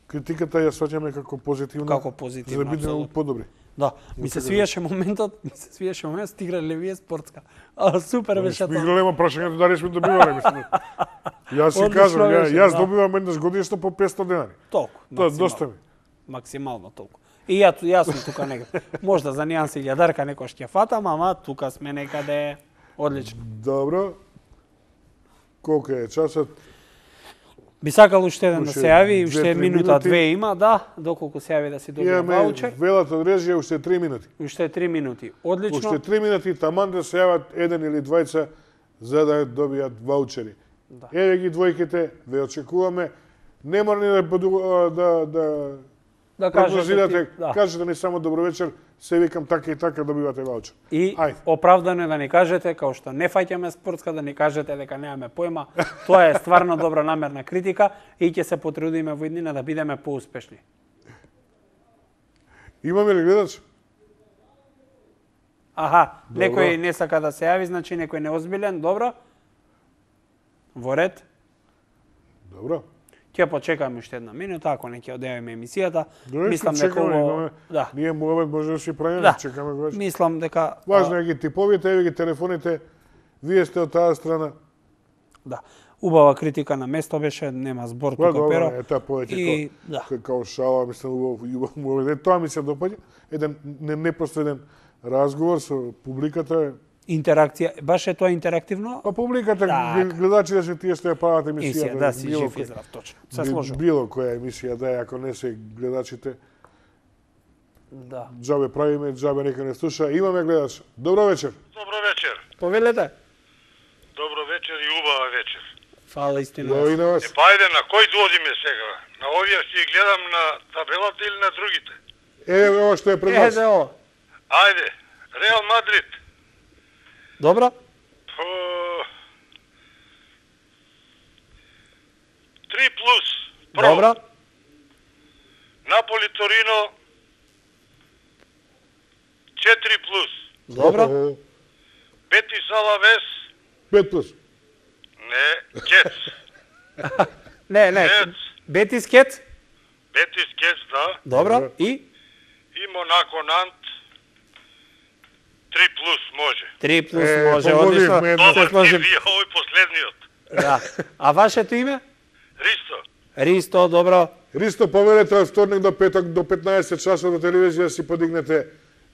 критиката ја сваќаме како позитивна. Како позитивна, За да бидеме апсолутно. подобри. Да, ми се свиеше моментот, ми се свиеше моментот, стиграле ли вие спортска. А, супер беше Сме тоа. играле, ма прашањето дали сме добивале, мислам. Јас си Одлично кажам, ја, беше, јас да. добивам еднаш годишно по петсто денари. Толку. Тоа максимално. доста ми. Максимално толку. И ја, јас сум тука некаде. Можда за нијанси илјадарка некош ќе фатам, ама тука сме некаде одлично. Добро. Колку е часот? Би сакал уште еден да Уште се јави, две-три уште минута, минути. две има, да, доколку се јави да си добие Имаме ваучер. велат од режија уште три минути. Уште три минути. Одлично. Уште три минути таман да се јават еден или двајца за да добијат ваучери. Да. Еве ги двојките, ве очекуваме. Не мора ни да поду- да да Да кажете прогнозирате, ти, да. кажете ни само добро вечер, се викам така и така добивате ваучер. И Ајде. оправдано е да ни кажете, као што не фаќаме спортска, да ни кажете дека немаме појма. Тоа е стварно добра намерна критика и ќе се потрудиме во иднина да бидеме поуспешни. Имаме ли гледач? Аха, Добро. некој не сака да се јави, значи некој неозбилен, добро. Во ред. Добро. Ќе почекаме уште една минута, ако не ќе одјавиме емисијата. Добре, Мислам ќе дека чекаме, ово... имаме- Да, Ние муабет може да си правиме, да. чекаме го вече. Мислам дека... Важно а, е ги типовите, еве ги телефоните. Вие сте од таа страна. Да. Убава критика на место беше, нема збор Тоа тука добро, перо. е таа повеќе И, ко- да. ко- као шала, мислам, убав, убав, убав, е, тоа ми се допаѓа. Еден не- непосреден разговор со публиката е Интеракција, баш е тоа интерактивно? Па публиката, Так. гледачите се тие што ја прават емисијата. Емисија, да, си било жив и кој- здрав, точно. Се сложил. Било која емисија да е, ако не се гледачите, Да. џабе правиме, џабе нека не слуша. Имаме гледач. Добро вечер. Добро вечер. Повелете. Добро вечер и убава вечер. Фала истина. Ја и на вас. Е, па ајде, на кој доодиме сега? На овие си ги гледам на табелата или на другите? Е, ова што е пред вас. Еде ово. Ајде, Реал Мадрид. Добро? По... Три плюс. Про. Добро? Наполи Торино. Четири плюс. Добро? Бетис Алавес. Пет плюс. Не, Кец. Не, не. Кец. Бетис Кет? Бетис Кец, да. Добро? И? И Монако Нант. Три плюс може. Три плюс Е, може, погодивме одлично. едно. Се Добар сложим. ти вие, овој последниот. Да. А вашето име? Ристо. Ристо, добро. Ристо, поверете од вторник до петок до петнаесет часот на телевизија си подигнете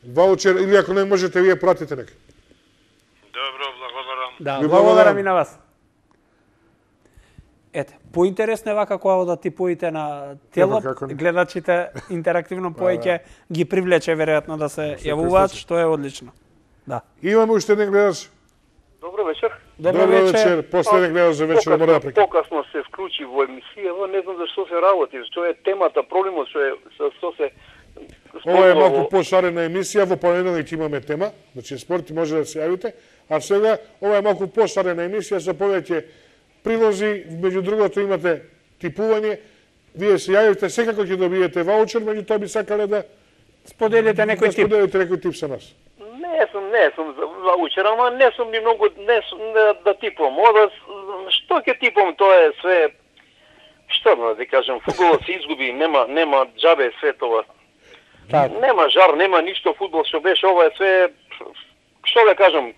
ваучер или ако не можете вие пратите нека. Добро, благодарам. Да, Ви благодарам благодарам. и на вас. Ете, поинтересно е вака кога да типуите на тело, како не. гледачите интерактивно повеќе ги привлече веројатно да се јавуваат, што е одлично. Да. Имаме уште еден гледач. Добро вечер. Добро вечер. Последен гледач за вечер мора да прекинем. Покасно се вклучи во емисија, не знам зашто се работи, што е темата, проблемот што е со што се Ова е малку пошарена емисија, во понеделник имаме тема, значи спорт може да се јавите, а сега ова е малку пошарена емисија со повеќе прилози, меѓу другото имате типување, вие се јавите, секако ќе добиете ваучер, меѓутоа би сакале да Споделите некој да тип. споделите некој тип со нас. Не сум, не сум за ваучер, ама не сум ни многу не сум да, да типувам. Ода што ќе типувам, тоа е све што да ти кажам, фудбалот се изгуби, нема нема џабе све тоа. Так. Нема жар, нема ништо фудбал што беше, ова е све што да кажам.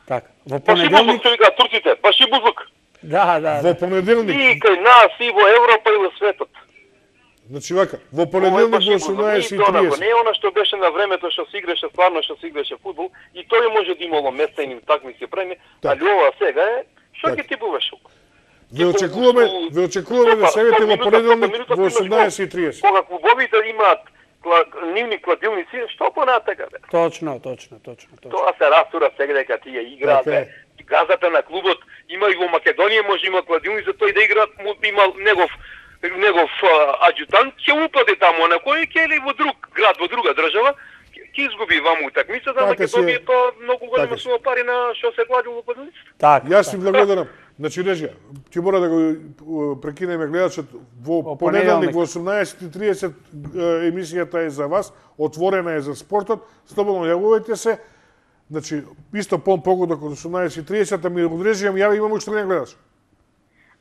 Така. Во Паши бузлук понеделник, што викаат турците, паши бузлук. да, да, Во да. понеделник, И кај нас, и во Европа, и во светот. значи вака, во Ова е понеделник паши во бузлук. осумнаесет и Не е тоа, триесет. не е она што беше на времето што се играше, стварно што се играше фудбал, и тој може да имало местени такмици преми, Так. али ова сега е, што Так. ќе типуваш? Ве очекуваме, ве очекуваме да се јавите во понеделник во осумнаесет и триесет. Кога клубовите имаат кла- нивни кладилници, што понатака бе? Точно, точно, точно, точно. Тоа се растура сега дека тие играат. Така е. бе. Газата на клубот има и во Македонија може има кладилница, тој да играат, му има негов негов а, аџутант, ќе упаде таму на кој ќе или во друг град, во друга држава, ќе- ќе изгуби ваму утакмицата, Така Македонија си- тоа многу голема така си. сума пари на што се клади во кладилницата. Так. Јас ви благодарам. Значи, режија, ќе мора да го uh, прекинеме гледачот во Во понеделник понеделник. во осумнаесет и триесет uh, емисијата е за вас, отворена е за спортот, слободно јавувајте се. Значи, исто пон погодок од осумнаесет и триесет, ми одрежувам, ја имам уште еден гледач.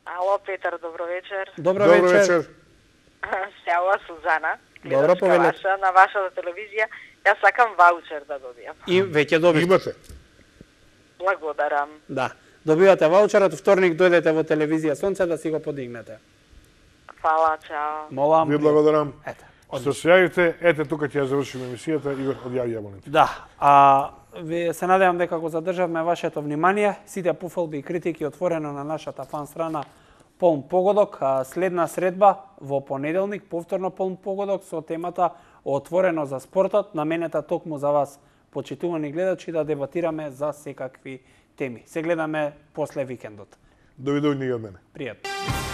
Ало, Петар, добро вечер. Добро, Добро вечер. вечер. Се ова Сузана, Добро, гледачка повелете. ваша, на вашата телевизија. Јас сакам ваучер да добијам. И веќе добивте. Имате. Благодарам. Да. Добивате ваучерот, вторник дојдете во телевизија Сонце да си го подигнете. Фала, чао. Молам. Ви благодарам. Ете. Што се јавите, ете тука ќе ја завршиме емисијата и одјави јавоните. Да, а ви се надевам дека го задржавме вашето внимание. Сите пофалби и критики отворено на нашата фан страна Полн погодок. А следна средба во понеделник, повторно Полн погодок со темата Отворено за спортот, наменета токму за вас, почитувани гледачи, да дебатираме за секакви теми. Се гледаме после викендот. Довидување и од мене. Пријатно.